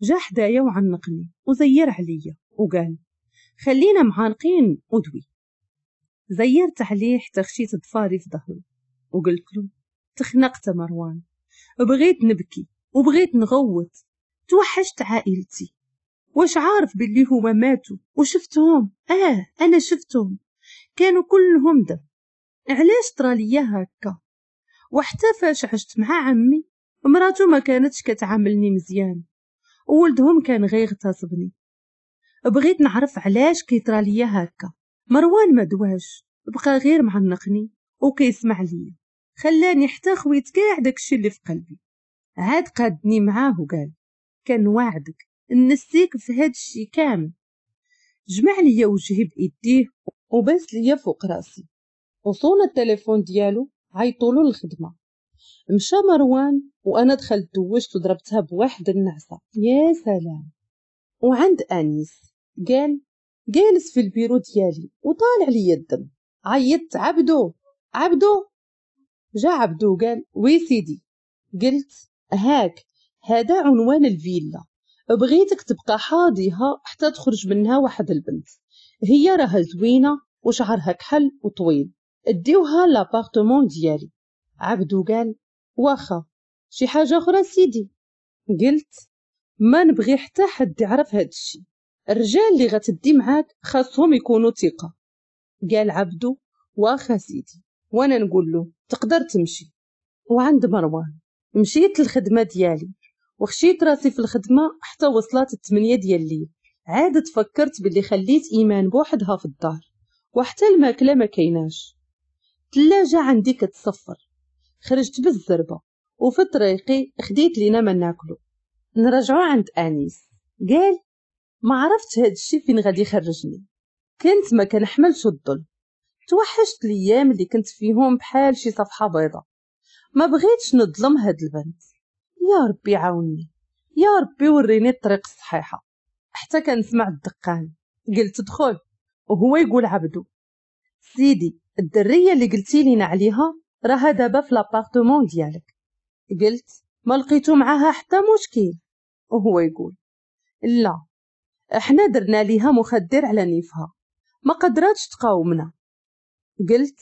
جا حدايا وعنقني وزير عليا وقال خلينا معانقين ودوي. زيرت عليه حتى خشيت ضفاري في ظهره وقلت له تخنقت مروان، بغيت نبكي وبغيت نغوت، توحشت عائلتي. واش عارف باللي هما ماتوا وشفتهم؟ انا شفتهم، كانوا كلهم دم. علاش طرا ليا هكا؟ وحتى فاش عشت مع عمي مراته ما كانتش كتعاملني مزيان، وولدهم كان غير اغتصبني. بغيت نعرف علاش كيطرا ليا هكا. مروان ما دواش، بقى غير معنقني وكيسمع ليا، خلاني حتى خويت كاع داكشي اللي في قلبي. عاد قادني معاه وقال كان وعدك نسيك في هاد الشي كامل. جمع ليا وجهي بايديه وباس ليا فوق راسي، وصونا التليفون ديالو عيطولو للخدمة. مشى مروان وانا دخلت دوشت وضربتها بواحد النعسه، يا سلام. وعند انيس قال جالس في البيرو ديالي وطالع ليا الدم. عيطت عبدو عبدو. جا عبدو قال oui سيدي. قلت هاك هذا عنوان الفيلا، بغيتك تبقى حاضيها حتى تخرج منها واحد البنت، هي راها زوينة وشعرها كحل وطويل، اديوها l'appartement ديالي. عبدو قال واخا، شي حاجة اخرى سيدي؟ قلت ما نبغي حتى حد يعرف هاد الشي، الرجال اللي غتدي معاك خاصهم يكونوا ثقة. قال عبدو واخا سيدي، وانا نقول له تقدر تمشي. وعند مروان مشيت للخدمة ديالي وخشيت راسي في الخدمة حتى وصلت 8 ديال الليل. عاد تفكرت باللي خليت ايمان بوحدها في الدار وحتى الماكلة ما كايناش، الثلاجة عندي كتصفر. خرجت بالزربه وفي طريقي خديت لينا ما ناكلو. نرجعو عند انيس. قال ما عرفت هاد الشي فين غادي يخرجني، كنت ما كنحملش الظلم، توحشت الايام اللي كنت فيهم بحال شي صفحة بيضاء. ما بغيتش نظلم هاد البنت، يا ربي عاوني، يا ربي وريني الطريق الصحيحة. حتى كنسمع الدقان، قلت دخل، وهو يقول عبدو سيدي الدريه اللي قلتي لينا عليها راها دابا في l'appartement ديالك. قلت ما لقيتو معاها حتى مشكل. وهو يقول لا، احنا درنا ليها مخدر على نيفها، ما قدراتش تقاومنا. قلت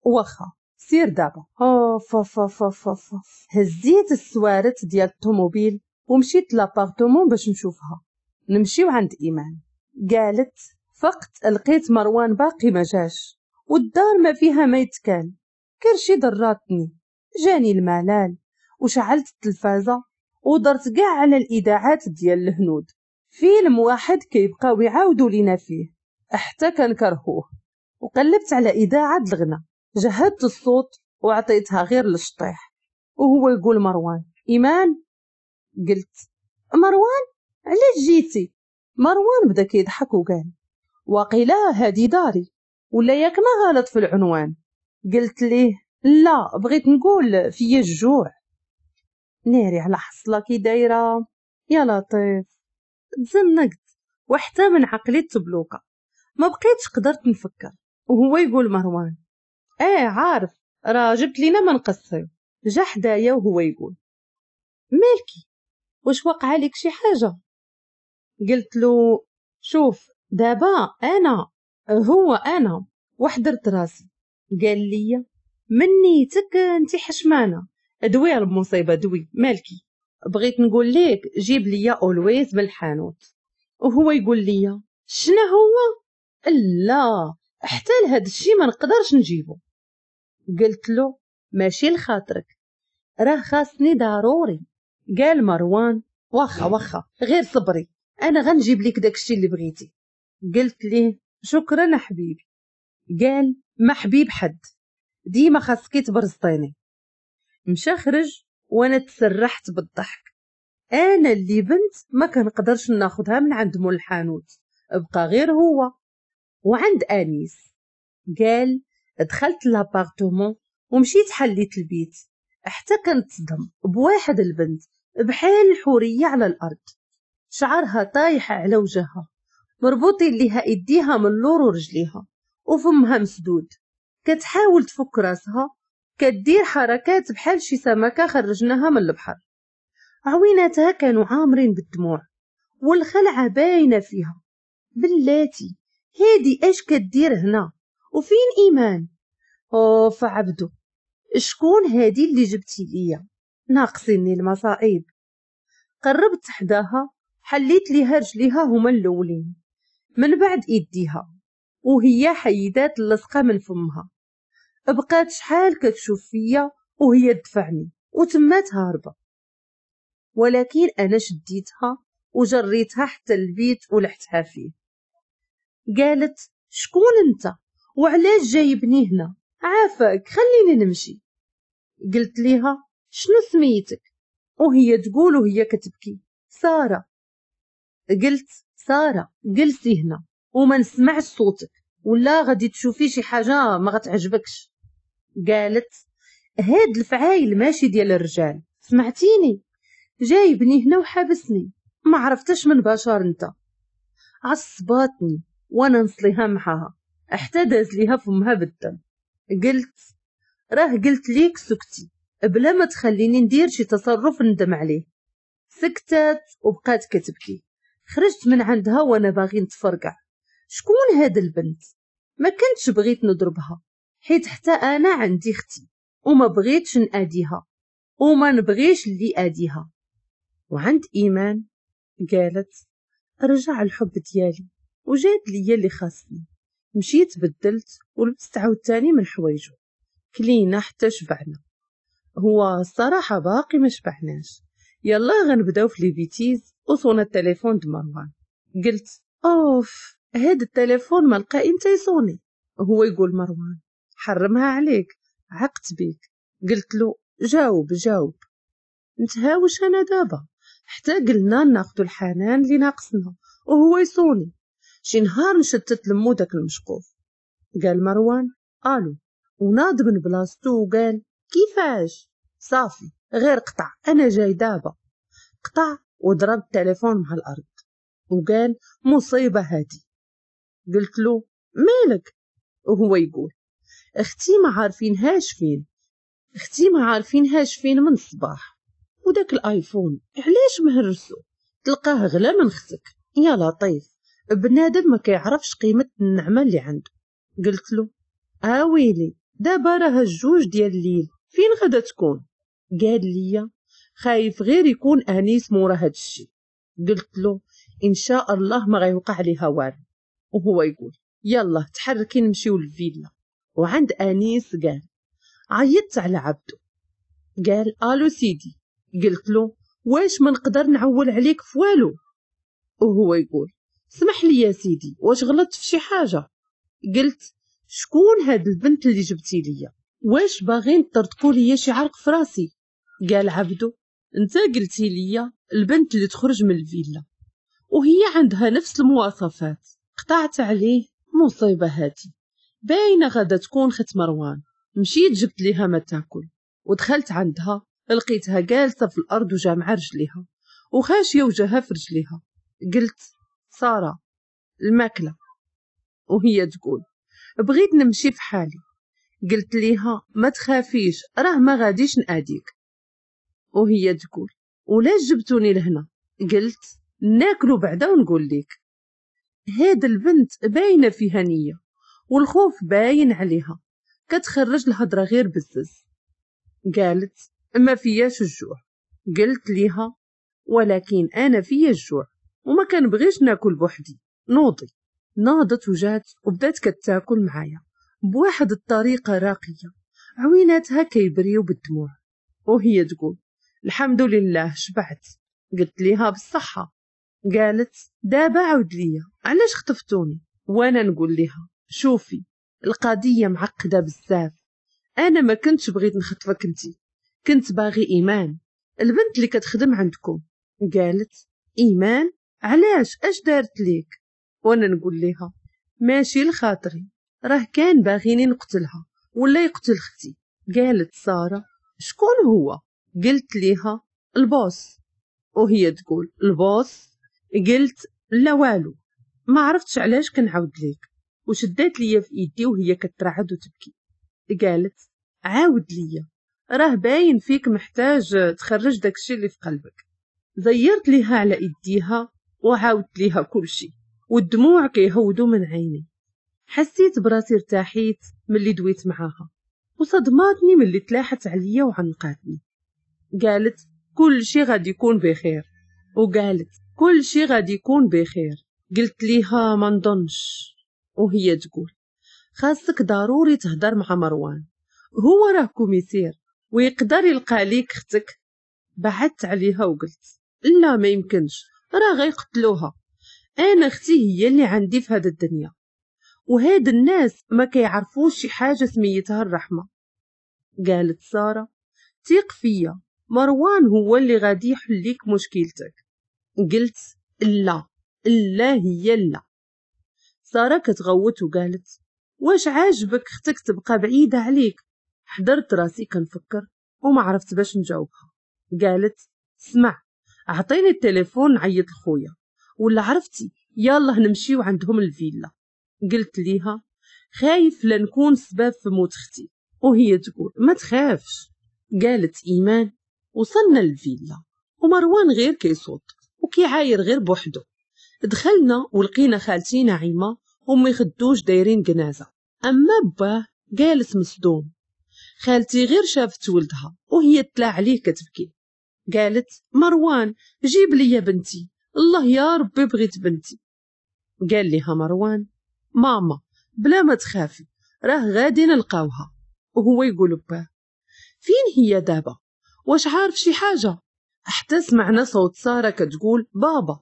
واخا سير دابا. اوف اوف اوف اوف. هزيت السوارت ديال الطوموبيل ومشيت l'appartement باش نشوفها. نمشيو عند ايمان. قالت فقت لقيت مروان باقي ما جاش والدار ما فيها ما يتكال، كرشي ضراتني، جاني الملال، وشعلت التلفازه ودرت كاع على الاذاعات ديال الهنود. فيلم واحد كيبقاو يعاودوا لينا فيه حتى كنكرهوه. وقلبت على اذاعة الغنى، جهدت الصوت وعطيتها غير للشطيح. وهو يقول مروان ايمان. قلت مروان علاش جيتي؟ مروان بدا كيضحك وقال وقيلا هادي داري ولا ياك ما غلط في العنوان. قلت ليه لا، بغيت نقول فيا الجوع. ناري على حصله كي دايرة، يا لطيف. تزنقت وحتى من عقلي تبلوكه، ما بقيتش قدرت نفكر. وهو يقول مروان ايه عارف راه جبت لينا ما نقصيو. جا حدايا وهو يقول مالكي واش وقع لك شي حاجة؟ قلت له شوف دابا انا هو انا، وحضرت راسي. قال لي من نيتك انت حشمانه، دوي المصيبة دوي مالكي. بغيت نقول لك جيب لي اولويز من الحانوت. وهو يقول لي شنو هو؟ لا حتى لهاد الشي ما نقدرش نجيبو. قلت له ماشي لخاطرك، راه خاصني ضروري. قال مروان واخا واخا غير صبري، انا غنجيب لك داكشي اللي بغيتي. قلت ليه شكرا حبيبي. قال ما حبيب حد، ديما خاصك تبرزطيني. مشى خرج وانا تسرحت بالضحك. انا اللي بنت ما كنقدرش ناخذها من عند مول الحانوت، بقى غير هو. وعند انيس قال دخلت l'appartement ومشيت حليت البيت حتى كنتصدم بواحد البنت بحال الحورية على الارض، شعرها طايح على وجهها، مربوطين ليها ايديها من اللور ورجليها، وفمها مسدود، كتحاول تفك راسها، كدير حركات بحال شي سمكة خرجناها من البحر. عويناتها كانوا عامرين بالدموع والخلعه باينة فيها. بلاتي هادي اش كدير هنا؟ وفين ايمان؟ اوف عبدو، شكون هادي اللي جبتي ليا؟ ناقصيني المصائب. قربت حداها، حليت ليها رجليها هما الاولين، من بعد ايديها، وهي حيدات اللصقه من فمها. بقات شحال كتشوف فيا وهي تدفعني وتمات هاربه، ولكن انا شديتها وجريتها حتى البيت ولحتها فيه. قالت شكون انت وعلاش جايبني هنا؟ عافاك خليني نمشي. قلت ليها شنو سميتك؟ وهي تقول وهي كتبكي ساره. قلت ساره جلسي هنا وما نسمعش صوتك، ولا غادي تشوفي شي حاجة ما غتعجبكش. قالت هاد الفعايل ماشي ديال الرجال، سمعتيني؟ جايبني هنا وحابسني، ما عرفتش من بشر انت. عصباتني وانا نصليها معاها حتى داز ليها فمها بالدم. قلت راه قلت ليك سكتي بلا ما تخليني ندير شي تصرف ندم عليه. سكتات وبقات كتبكي. خرجت من عندها وانا باغي نتفرقع. شكون هاد البنت؟ ما كنتش بغيت نضربها، حيت حتى انا عندي اختي وما بغيتش ناديها وما نبغيش اللي اديها. وعند ايمان قالت رجع الحب ديالي وجات ليا اللي خاصني. مشيت بدلت ولبست عاوتاني من حوايجو، كلينا حتى شبعنا. هو الصراحة باقي ما شبعناش، يلا غنبداو في les bêtises. وصونا التليفون د مروان. قلت اوف هاد التليفون ما لقى امتى يصوني. هو يقول مروان حرمها عليك، عقت بيك. قلت له جاوب جاوب. نتهاوش انا دابا حتى قلنا ناخذ الحنان اللي ناقصنا وهو يصوني. شي نهار نشتت لمو داك المشقوف. قال مروان الو، وناض من بلاصتو وقال كيفاش؟ صافي غير قطع انا جاي دابا. قطع وضرب التليفون مع الارض وقال مصيبة هادي. قلت له مالك؟ وهو يقول اختي ما عارفينهاش فين، اختي ما عارفينهاش فين من الصباح، وداك الايفون علاش مهرسو؟ تلقاه غلا من اختك. يا لطيف، بنادم ما كيعرفش قيمة النعمة اللي عنده. قلت له اويلي دابا راه الجوج ديال الليل، فين غادا تكون؟ قال لي خايف غير يكون انيس مورا هاد الشي. قلت له ان شاء الله ما غيوقع ليها والو. وهو يقول يلا تحركي نمشيو للفيلا. وعند انيس قال عيطت على عبدو. قال الو سيدي. قلت له واش ما نقدر نعول عليك في والو؟ وهو يقول سمح لي يا سيدي واش غلطت في شي حاجة؟ قلت شكون هاد البنت اللي جبتي ليا؟ واش باغين تطرطقوا ليا شي عرق في راسي؟ قال عبدو انت قلتي ليا البنت اللي تخرج من الفيلا وهي عندها نفس المواصفات. قطعت عليه مصيبة هاتي، باينة غادا تكون خت مروان. مشيت جبت ليها ما تاكل ودخلت عندها، لقيتها جالسة في الارض وجامعة رجليها وخاشيه وجهها في رجليها. قلت ساره الماكلة، وهي تقول بغيت نمشي في حالي. قلت ليها ما تخافيش راه ما غاديش ناديك. وهي تقول ولاش جبتوني لهنا؟ قلت ناكلو بعدا ونقول لك. هاد البنت باينة فيها نيه والخوف باين عليها، كتخرج الهضرة غير بزز. قالت ما فياش الجوع. قلت ليها ولكن انا فيا الجوع وما كنبغيش ناكل بوحدي، نوضي. ناضت وجات وبدات كتاكل معايا بواحد الطريقة راقية، عويناتها كيبريو بالدموع، وهي تقول الحمد لله شبعت. قلت ليها بالصحة. قالت دابا عاود ليا علاش خطفتوني؟ وانا نقول لها شوفي القضية معقدة بزاف، انا ما كنتش بغيت نخطفك انتي، كنت باغي ايمان البنت اللي كتخدم عندكم. قالت ايمان علاش، اش دارت ليك؟ وانا نقول لها ماشي لخاطري، راه كان باغيني نقتلها ولا يقتل اختي. قالت ساره شكون هو؟ قلت ليها ال boss. وهي تقول ال boss؟ قلت لا والو، ما عرفتش علاش كنعاود ليك. وشدات ليا في ايدي وهي كترعد وتبكي. قالت عاود ليا، راه باين فيك محتاج تخرج داكشي اللي في قلبك. زيرت ليها على ايديها وعاودت ليها كلشي، والدموع كيهودوا من عيني. حسيت براسي ارتاحيت ملي دويت معاها، وصدماتني ملي تلاحت عليا وعنقاتني. قالت كل شي غادي يكون بخير، وقالت كل شي غادي يكون بخير. قلت ليها ما نظنش. وهي تقول خاصك ضروري تهدر مع مروان، هو راه commissaire ويقدر يلقى ليك اختك. بعدت عليها وقلت لا ما يمكنش، راه غيقتلوها، انا اختي هي اللي عندي في هذا الدنيا، وهاد الناس ما كيعرفوش شي حاجة سميتها الرحمة. قالت ساره ثق فيا، مروان هو اللي غادي يحل ليك مشكلتك. قلت لا لا هي لا. ساره كتغوت وقالت واش عاجبك اختك تبقى بعيدة عليك؟ حضرت راسي كنفكر وما عرفت باش نجاوبها. قالت اسمع، اعطيني التليفون نعيط لخويا، ولا عرفتي يلا نمشيو عندهم الفيلا. قلت ليها خايف لنكون سبب في موت اختي. وهي تقول ما تخافش. قالت ايمان وصلنا للفيلا ومروان غير كيصوت وكيعاير غير بوحدو. دخلنا ولقينا خالتي نعيمه وامي خدوش دايرين جنازه، اما باه جالس مصدوم. خالتي غير شافت ولدها وهي تلا عليه كتبكي. قالت مروان جيب لي بنتي، الله يا ربي بغيت بنتي. قال لها مروان ماما بلا ما تخافي راه غادي نلقاوها. وهو يقول باه فين هي دابا، واش عارف شي حاجة؟ حتى سمعنا صوت ساره كتقول بابا.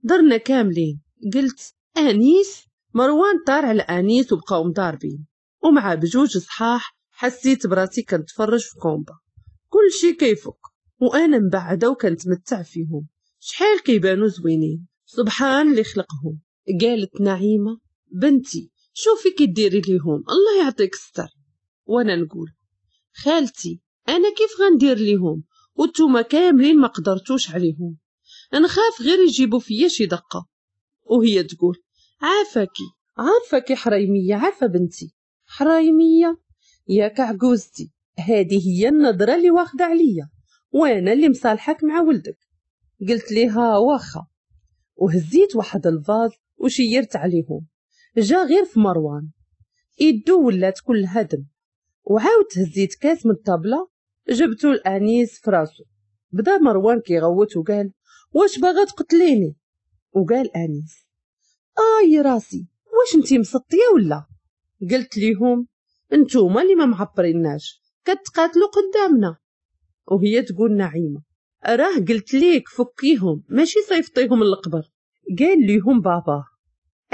درنا كاملين. قلت انيس. مروان طار على انيس وبقاو مضاربين، ومع بجوج صحاح حسيت براسي كنتفرج في combat، كل شي كيفك وانا مبعده وكنتمتع فيهم، شحال كيبانو زوينين، سبحان اللي خلقهم. قالت نعيمه بنتي شوفي كي ديري ليهم، الله يعطيك الستر. وانا نقول خالتي انا كيف غندير ليهم وانتوما كاملين ما قدرتوش عليهم، نخاف غير يجيبوا فيا شي دقه. وهي تقول عافاكي عارفاكي حرايميه، عارفه بنتي حرايميه ياك عجوزتي، هذه هي النظرة اللي واخده عليا وانا اللي مصالحك مع ولدك. قلت ليها واخا، وهزيت واحد ال vase وشيرت عليهم، جا غير في مروان يدو ولات كلها دم. وعاودت هزيت كاس من الطابله جبتو الانيس في راسو. بدا مروان كيغوت وقال واش باغا تقتليني؟ وقال انيس اي راسي واش انتي مسطيه ولا؟ قلت ليهم انتوما اللي ما معبريناش كتقاتلوا قدامنا. وهي تقول نعيمه راه قلت ليك فكيهم ماشي صيفطيهم للقبر. قال ليهم بابا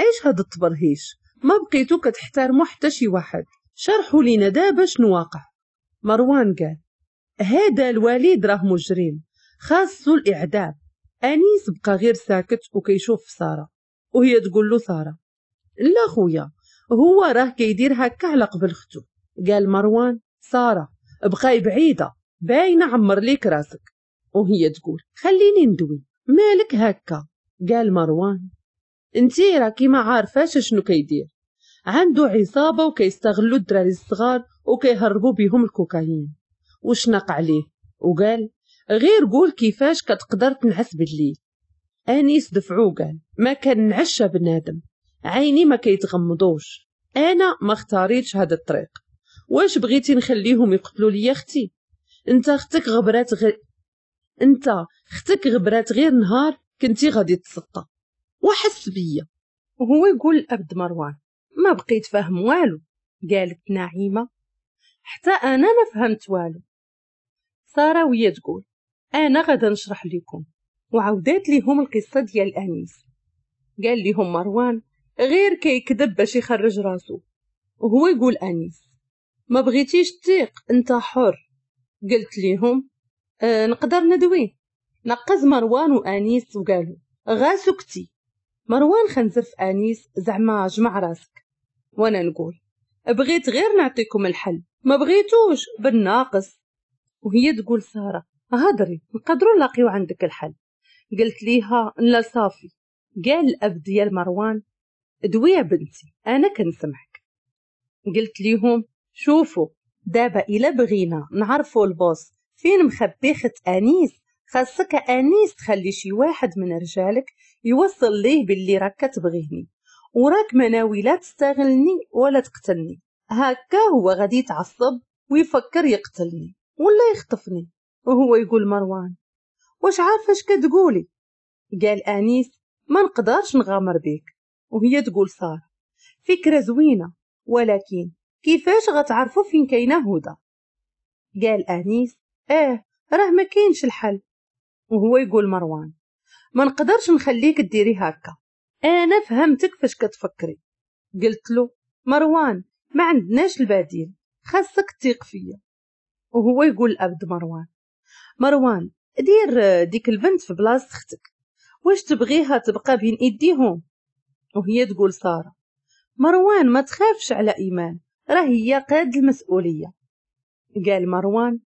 ايش هاد التبرهيش، ما بقيتو كتحترموا حتى شي واحد، شرحوا لينا دابا شنو واقع. مروان قال هذا الوليد راه مجرم خاصو الاعدام. انيس بقى غير ساكت وكيشوف في ساره، وهي تقول له ساره لا خويا هو راه كيدير هكا على قبل اختو. قال مروان ساره بقاي بعيدة باينة عمر ليك راسك. وهي تقول خليني ندوي مالك هكا. قال مروان انتي راكي ما عارفاش شنو كيدير، عنده عصابة وكيستغلوا الدراري الصغار وكيهربوا بهم الكوكايين. وشنق عليه وقال غير قول كيفاش كتقدر تنعس بالليل. انيس دفعو قال ما كنعش بنادم، عيني ما كيتغمضوش، انا ما اختاريتش هذا الطريق، واش بغيتي نخليهم يقتلوا لي اختي؟ انت اختك غبرات غير انت اختك غبرات غير نهار كنتي غادي تسطى وحس بيا. وهو يقول الأب مروان ما بقيت فاهم والو. قالت نعيمة حتى أنا ما فهمت والو. سارة وهي تقول أنا غادا نشرح لكم، وعودات ليهم القصة ديال أنيس. قال لهم مروان غير كيكذب باش يخرج راسو. وهو يقول أنيس ما بغيتيش تثيق انت حر. قلت لهم نقدر ندوي. نقز مروان وأنيس وقالوا غا سكتي. مروان خنزر في أنيس زعما جمع راسك. وانا نقول بغيت غير نعطيكم الحل، ما بغيتوش بالناقص. وهي تقول سارة هضري نقدروا نلاقيو عندك الحل. قلت ليها لا صافي. قال الأب ديال مروان دوي يا بنتي أنا كنسمعك. قلت ليهم شوفوا دابا إلا بغينا نعرفوا ال boss فين مخبي خت أنيس، خاصك أنيس تخلي شي واحد من رجالك يوصل ليه باللي راك كتبغيني وراك مناوي لا تستغلني ولا تقتلني، هكا هو غادي يتعصب ويفكر يقتلني ولا يخطفني. وهو يقول مروان واش عارفه اش كتقولي؟ قال أنيس ما نقدرش نغامر بيك. وهي تقول سارة فكرة زوينة، ولكن كيفاش غتعرفوا فين كاينه هدى؟ قال أنيس راه ما كاينش الحل. وهو يقول مروان ما نقدرش نخليك ديري هكا، انا فهمتك فاش كتفكري. قلت له مروان ما عندناش البديل، خاصك تثيق فيا. وهو يقول الأب مروان مروان دير ديك البنت في بلاصة اختك، واش تبغيها تبقى بين ايديهم؟ وهي تقول سارة مروان ما تخافش على ايمان، راه هي قاد المسؤولية. قال مروان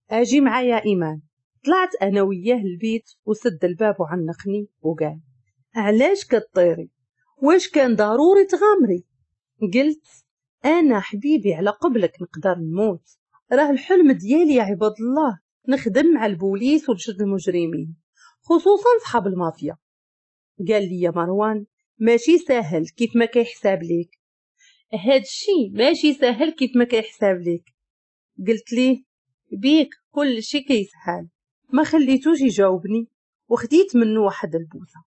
اجي معايا ايمان. طلعت انا وياه البيت وسد الباب وعنقني وقال علاش كطيري؟ واش كان ضروري تغامري؟ قلت انا حبيبي على قبلك نقدر نموت، راه الحلم ديالي يا عباد الله نخدم مع البوليس ونشد المجرمين خصوصا صحاب المافيا. قال لي يا مروان ماشي ساهل كيف ما كيحساب ليك، هاد الشي ماشي ساهل كيف ما كيحساب ليك. قلت ليه بيك كل شي كيسهل. ما خليتوش يجاوبني وخديت منه واحد البوسه.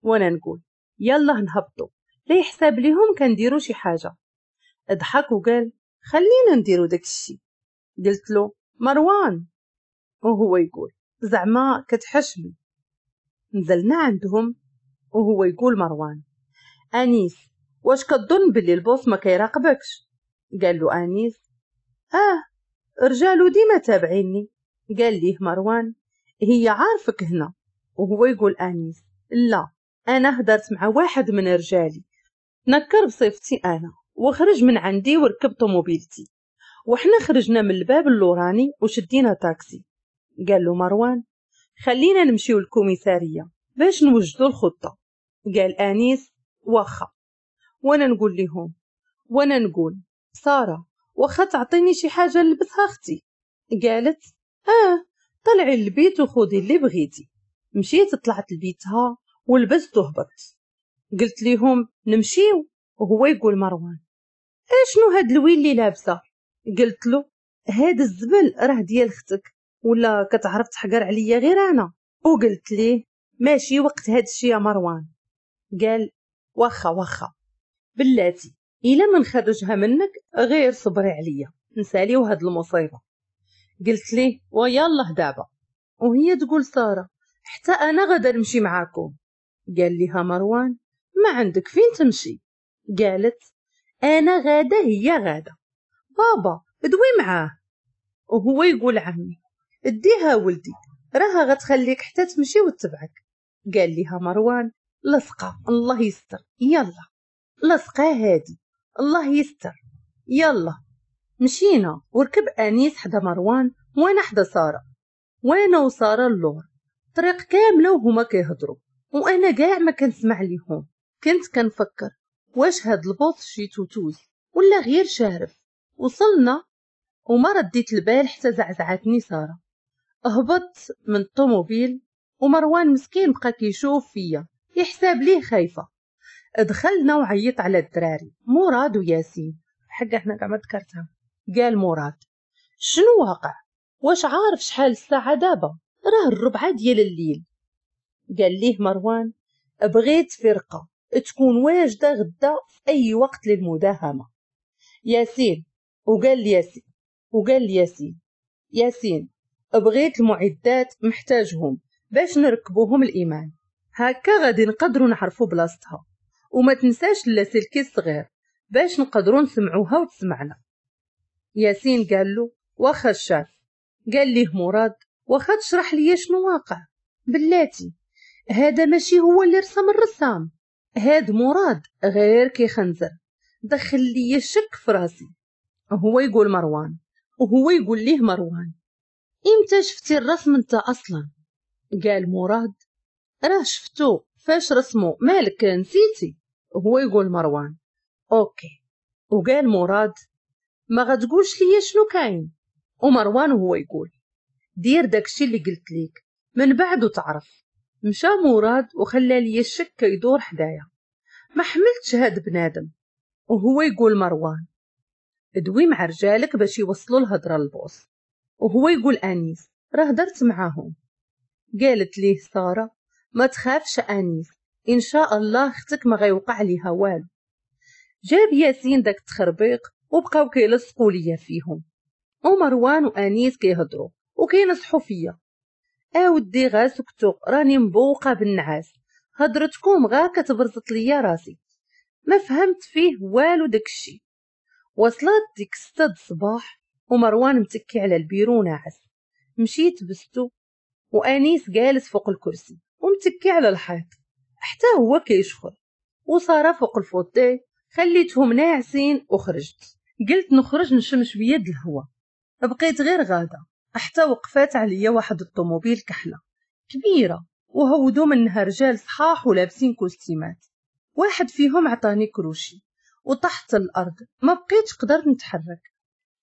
وانا نقول يلا نهبطوا لا يحساب ليهم كنديروا شي حاجة. اضحك وقال خلينا نديرو داك الشي. قلت له مروان، وهو يقول زعما كتحشمي. نزلنا عندهم وهو يقول مروان انيس واش كتظن باللي ال boss ما كيراقبكش؟ قال له انيس رجالو ديما تابعيني. قال ليه مروان هي عارفك هنا. وهو يقول انيس لا انا هدرت مع واحد من رجالي نكر بصفتي انا وخرج من عندي وركب طوموبيلتي، وحنا خرجنا من الباب اللوراني وشدينا تاكسي. قال له مروان خلينا نمشيو للكوميساريه باش نوجدوا الخطة. قال انيس واخا. وانا نقول لهم وانا نقول ساره واخا تعطيني شي حاجة نلبسها اختي؟ قالت طلعي للبيت وخذي اللي بغيتي. مشيت طلعت لبيتها ولبست وهبطت. قلت لهم نمشيو، وهو يقول مروان اشنو هاد الويل اللي لابسه؟ قلت له هاد الزبل راه ديال اختك، ولا كتعرف تحقر عليا غير انا؟ وقلت ليه ماشي وقت هاد الشي يا مروان. قال واخا واخا بلاتي الا ما نخرجها منك غير صبري عليا نساليو هاد المصيبة. قلت ليه ويالله دابا. وهي تقول ساره حتى انا غادا نمشي معاكم. قال لها مروان ما عندك فين تمشي. قالت انا غاده هي غاده، بابا دوي معاه. وهو يقول عمي اديها ولدي راها غتخليك حتى تمشي وتبعك. قال لها مروان لصقه الله يستر، يلا لصقه هادي الله يستر يلا. مشينا وركب انيس حدا مروان وانا حدا ساره، وانا وسارة اللور طريق كاملة وهما كيهضروا وانا كاع ما كنسمع ليهم. كنت كنفكر واش هاد ال boss شي توتوز ولا غير شارف. وصلنا وما رديت البال حتى زعزعتني ساره. هبطت من الطوموبيل ومروان مسكين بقى كيشوف فيا يحساب ليه خايفة. دخلنا وعيط على الدراري مراد وياسين، حقا حنا كاع ما ذكرتها. قال مراد شنو واقع؟ واش عارف شحال الساعة دابا؟ راه 4 ديال الليل. قال ليه مروان بغيت فرقه تكون واجدة غدا في أي وقت للمداهمة. ياسين وقال ياسين ياسين بغيت المعدات محتاجهم باش نركبوهم الإيمان، هكا غادي نقدروا نعرفوا بلاصتها، وما تنساش اللاسلكي الصغير باش نقدروا نسمعوها وتسمعنا. ياسين قال له واخا الشاف. قال ليه مراد واخا تشرح لي شنو واقع؟ بلاتي هذا ماشي هو اللي رسم الرسام، هاد مراد غير كيخنزر، دخل لي الشك في راسي. هو يقول مروان وهو يقول ليه مروان امتى شفتي الرسم انت اصلا؟ قال مراد راه شفتو فاش رسمو، مالك نسيتي؟ هو يقول مروان OK. وقال مراد ما غتقولش ليا شنو كاين؟ ومروان هو يقول دير داكشي اللي قلت ليك من بعد وتعرف. مشى مراد وخلى لي الشك يدور حدايا، ما حملتش هاد بنادم. وهو يقول مروان ادوي مع رجالك باش يوصلوا الهضرة لل boss. وهو يقول انيس راه هدرت معاهم. قالت ليه ساره ما تخافش انيس، ان شاء الله اختك ما غيوقع ليها والو. جاب ياسين داك التخربيق وبقاو كيلصقوا ليا فيهم، ومروان وانيس كيهضروا وكينصحوا فيا. اودي غا سكتو راني مبوقه بالنعاس، هضرتكم غا كتبرزط ليا راسي، ما فهمت فيه والو داكشي. وصلت ديك 6 الصباح ومروان متكي على البيرو ناعس، مشيت بستو وانيس جالس فوق الكرسي ومتكي على الحيط حتى هو كيشخر، وسارة فوق ال fauteuil. خليتهم ناعسين وخرجت، قلت نخرج نشم شوية د الهوا. بقيت غير غاده حتى وقفات عليا واحد الطوموبيل كحلة كبيرة، وهودوا منها رجال صحاح ولابسين كوستيمات. واحد فيهم عطاني كروشي وطحت الارض، ما بقيتش قدرت نتحرك.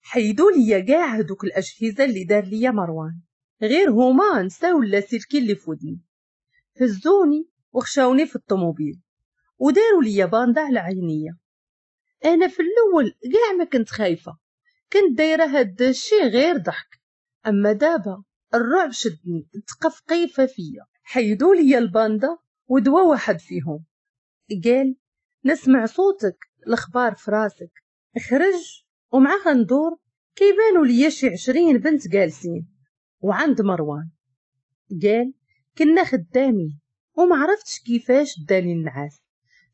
حيدوا ليا كاع هذوك الاجهزة اللي دار ليا مروان، غير هما نساو اللاسلكي اللي فودني. هزوني وخشاوني في الطوموبيل وداروا ليا bande على عينيا. انا في الاول كاع ما كنت خايفة، كنت دايرة هاد الشيء غير ضحك، اما دابا الرعب شدني، تقفقيفه فيا. حيدوا ليا ال bande ودوا واحد فيهم قال نسمع صوتك الاخبار في راسك. خرج ومع غندور كيبانوا ليا شي 20 بنت جالسين وعند مروان. قال كنا خدامين وما عرفتش كيفاش داني النعاس.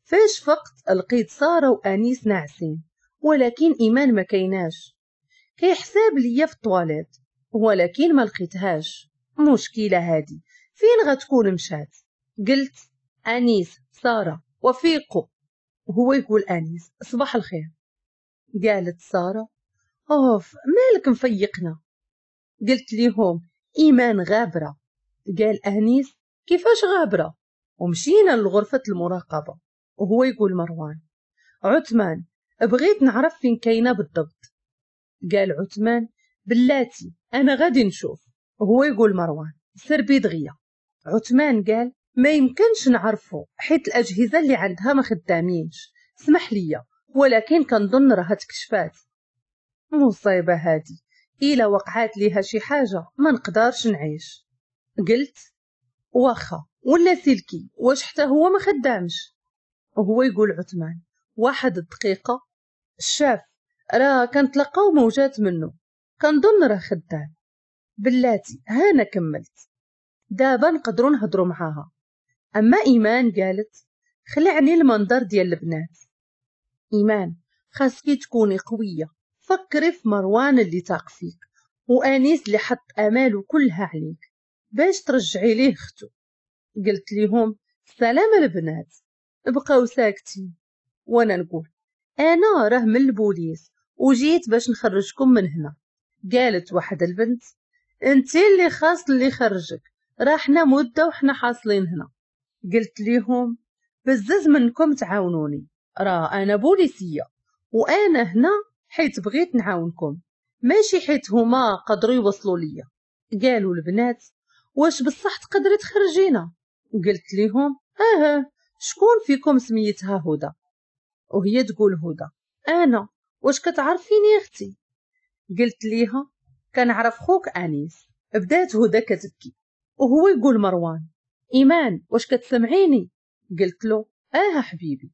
فاش فقت لقيت ساره وانيس ناعسين، ولكن ايمان ما كايناش. كيحساب ليا في الطواليت ولكن ما لقيتهاش. مشكلة هادي فين غتكون مشات؟ قلت انيس ساره وفيقوا. وهو يقول انيس صباح الخير. قالت ساره اوف مالك مفيقنا؟ قلت ليهم ايمان غابره. قال انيس كيفاش غابره؟ ومشينا لغرفة المراقبة. وهو يقول مروان عثمان بغيت نعرف فين كاينه بالضبط. قال عثمان بلاتي انا غادي نشوف. وهو يقول مروان سربي دغيا. عثمان قال ما يمكنش نعرفو حيت الاجهزة اللي عندها ما خدامينش، اسمح ليا ولكن كنظن راها تكشفات. مصيبة هادي، الا وقعات ليها شي حاجة ما نقدرش نعيش. قلت واخا ولا سلكي واش حتى هو ما خدامش؟ وهو يقول عثمان واحد الدقيقة الشاف راه كنتلقاو موجات منه كنظن راه خدام. بلاتي هانا كملت دابا نقدروا نهضروا معاها. اما ايمان قالت خلعني المنظر ديال البنات. ايمان خاصكي تكوني قوية، فكري في مروان اللي تاق فيك وانيس اللي حط اماله كلها عليك باش ترجعي ليه اختو. قلت ليهم سلام البنات. بقاو ساكتين وانا نقول انا راه من البوليس وجيت باش نخرجكم من هنا. قالت واحد البنت انت اللي خاص اللي خرجك، راه حنا مده وحنا حاصلين هنا. قلت ليهم بزز منكم تعاونوني، راه انا بوليسيه وانا هنا حيت بغيت نعاونكم ماشي حيت هما قدروا يوصلوا ليا. قالوا البنات واش بصح تقدري تخرجينا؟ قلت ليهم شكون فيكم سميتها هدى؟ وهي تقول هدى انا، واش كتعرفيني يا اختي؟ قلت ليها كنعرف خوك انيس. بدات هدى كتبكي وهو يقول مروان ايمان واش كتسمعيني؟ قلت له اه حبيبي.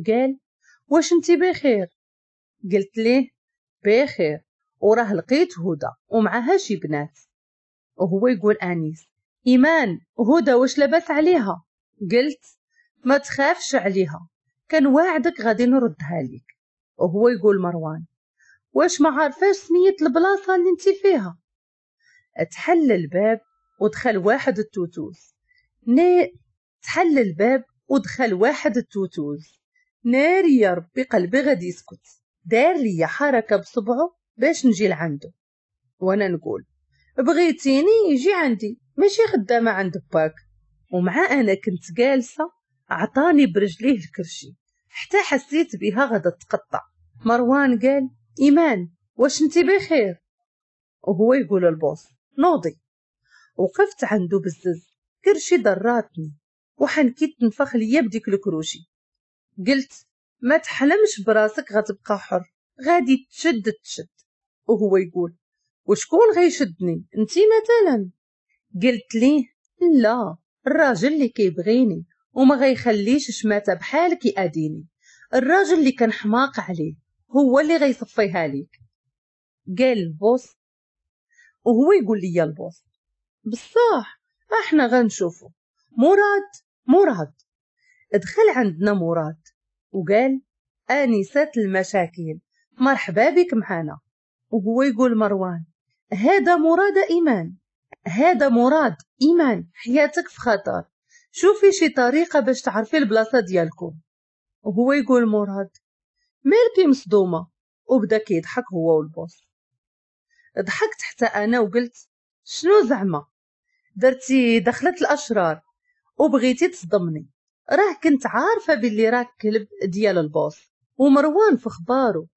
قال واش انت بخير؟ قلت ليه بخير، وراه لقيت هدى ومعها شي بنات. وهو يقول انيس ايمان هدى واش لاباس عليها؟ قلت ما تخافش عليها، كان واعدك غادي نردها ليك. وهو يقول مروان واش ما عارفاش سمية البلاصة اللي انت فيها؟ تحل الباب ودخل واحد التوتوز. تحل الباب ودخل واحد التوتوز. ناري يا ربي قلبي غادي يسكت. دار لي حركة بصبعه باش نجي لعنده، وانا نقول بغيتيني يجي عندي، ماشي خدامة عند باك. ومع انا كنت جالسة عطاني برجليه الكرشي حتى حسيت بها غادا تقطع. مروان قال ايمان واش انت بخير؟ وهو يقول ال boss نوضي. وقفت عنده بزز، كرشي ضراتني وحنكيت تنفخ ليا بديك الكروشي. قلت ما تحلمش براسك غتبقى حر، غادي تشد تشد. وهو يقول وشكون غيشدني انتي مثلا؟ قلت ليه لا، الراجل اللي كيبغيني وما غيخليش شماته بحالك يأذيني، الراجل اللي كنحماق عليه هو اللي غيصفيها ليك. قال ال boss، وهو يقول لي ال boss بصح احنا غنشوفو. مراد مراد. دخل عندنا مراد وقال انسات المشاكل مرحبا بك معنا. وهو يقول مروان هذا مراد ايمان، هذا مراد ايمان، حياتك في خطر، شوفي شي طريقه باش تعرفي البلاصة ديالكم. وهو يقول مراد مالكي مصدومة؟ وبدا كيضحك هو وال boss. ضحكت حتى انا وقلت شنو زعما درتي دخلت الاشرار وبغيتي تصدمني؟ راه كنت عارفه باللي راك كلب ديال ال boss ومروان في خبارو،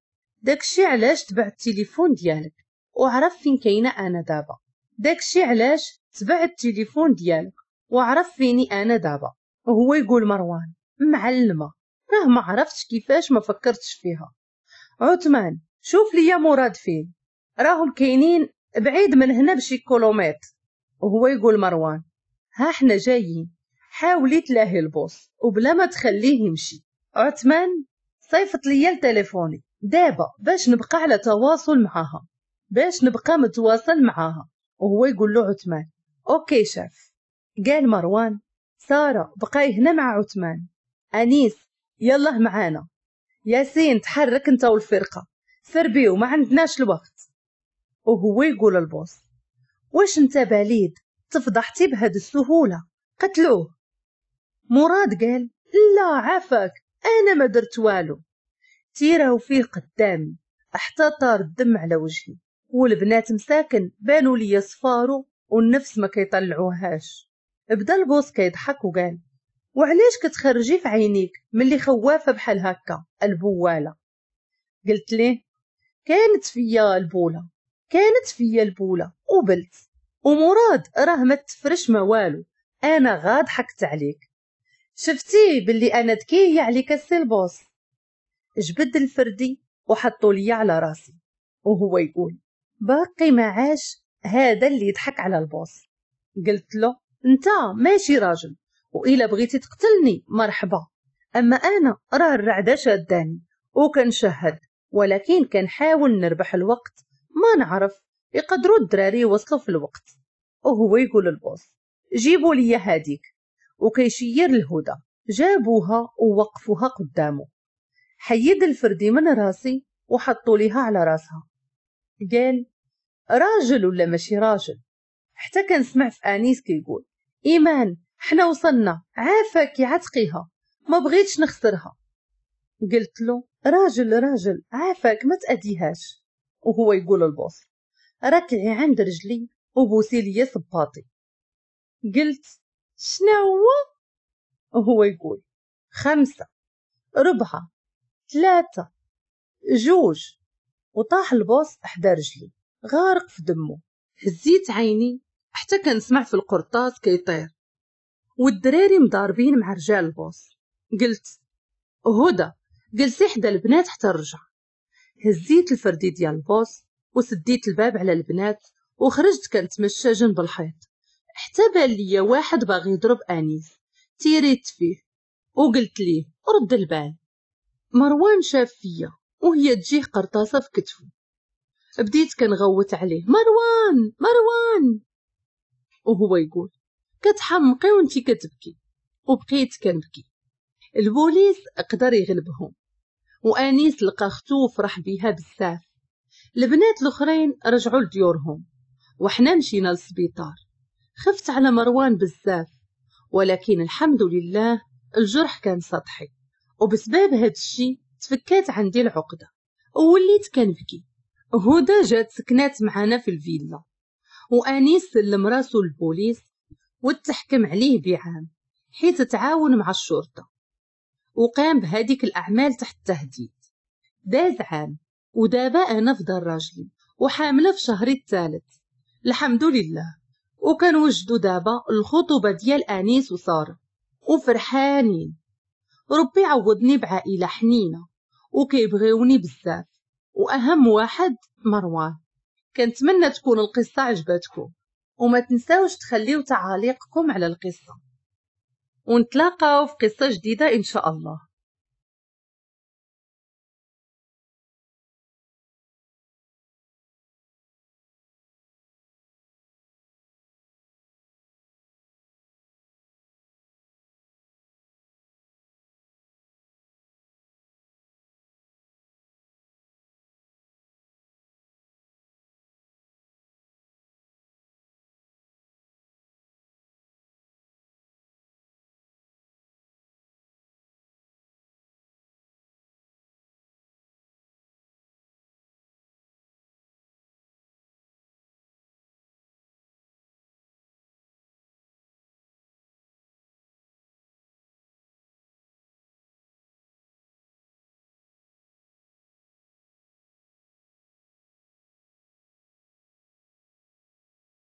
داكشي علاش تبع التليفون ديالك وعرف فين كاينه انا دابا، داكشي علاش تبع التليفون ديالك وعرف فيني انا دابا. وهو يقول مروان معلمه راه ما عرفتش كيفاش ما فكرتش فيها. عثمان شوف ليا مراد فين، راهم كاينين بعيد من هنا بشي كيلومتر. وهو يقول مروان ها احنا جايين، حاولي تلاهي ال boss وبلا ما تخليه يمشي. عثمان صيفط ليا لتليفوني دابا باش نبقى على تواصل معاها، باش نبقى متواصل معاها. وهو يقول له عثمان OK chef. قال مروان ساره بقاي هنا مع عثمان، انيس يلا معانا، ياسين تحرك انت والفرقة سربيو ما عندناش الوقت. وهو يقول ال boss واش انت بليد تفضحتي بهاد السهولة؟ قتلوه. مراد قال لا عافاك انا ما درت والو. تيراو فيه قدامي حتى طار الدم على وجهي، والبنات مساكن بانوا لي صفارو والنفس ما كيطلعوهاش. بدا ال boss كيضحك وقال وعلاش كتخرجي في عينيك ملي خوافه بحال هكا البواله؟ قلت ليه كانت فيا البوله، كانت فيا البوله وبلت، ومراد راه ما تفرش ما والو، انا غا ضحكت عليك، شفتي باللي انا ذكية عليك السي ال boss. جبد الفردي وحطوا لي على راسي وهو يقول باقي ما عاش هذا اللي يضحك على ال boss. قلت له انت ماشي راجل، وإلا بغيتي تقتلني مرحبا، اما انا راه الرعده شاداني وكنشهد، ولكن كنحاول نربح الوقت، ما نعرف يقدروا الدراري يوصلوا في الوقت. وهو يقول ال boss جيبوا لي هاديك، وكيشير الهدى. جابوها ووقفوها قدامه. حيد الفردي من راسي وحطوا ليها على راسها. قال راجل ولا ماشي راجل؟ حتى كنسمع في انيس كيقول ايمان حنا وصلنا، عافاك عتقيها، ما بغيتش نخسرها. قلت له راجل راجل عافاك ما تأديهاش. وهو يقول ال boss ركعي عند رجلي وبوسي لي صباطي. قلت شنو هو؟ وهو يقول 5 4 3 2. وطاح ال boss حدا رجلي غارق في دمه. هزيت عيني حتى كنسمع في القرطاس كيطير والدراري مضاربين مع رجال ال boss. قلت هدى جلسي حدا البنات حتى نرجع. هزيت الفردي ديال ال boss وسديت الباب على البنات وخرجت كنتمشى جنب الحيط حتى بان ليا واحد باغي يضرب انيس. تيريت فيه وقلت ليه رد البال. مروان شاف فيا وهي تجيه قرطاسة في كتفه. بديت كنغوت عليه مروان مروان، وهو يقول كتحمقي وانتي كتبكي، وبقيت كنبكي. البوليس قدر يغلبهم، وانيس لقى اختو وفرح بيها بزاف. البنات الاخرين رجعوا لديورهم وحنا مشينا للسبيطار. خفت على مروان بزاف، ولكن الحمد لله الجرح كان سطحي، وبسبب هاد الشي تفكات عندي العقدة ووليت كنبكي. هدى جات سكنات معانا في الفيلا، وانيس سلم راسو للبوليس وتحكم عليه بعام حيت تعاون مع الشرطة وقام بهذيك الأعمال تحت التهديد. داز عام ودابا أنا في دار راجلي وحاملة في شهري الثالث الحمد لله، وكنوجدوا دابا الخطوبة ديال أنيس وسارة وفرحانين. ربي عوضني بعائلة حنينة وكيبغيوني بزاف، وأهم واحد مروان. كنتمنى تكون القصة عجبتكم، وما تنساوش تخليو تعاليقكم على القصة، ونتلاقاو في قصة جديدة إن شاء الله.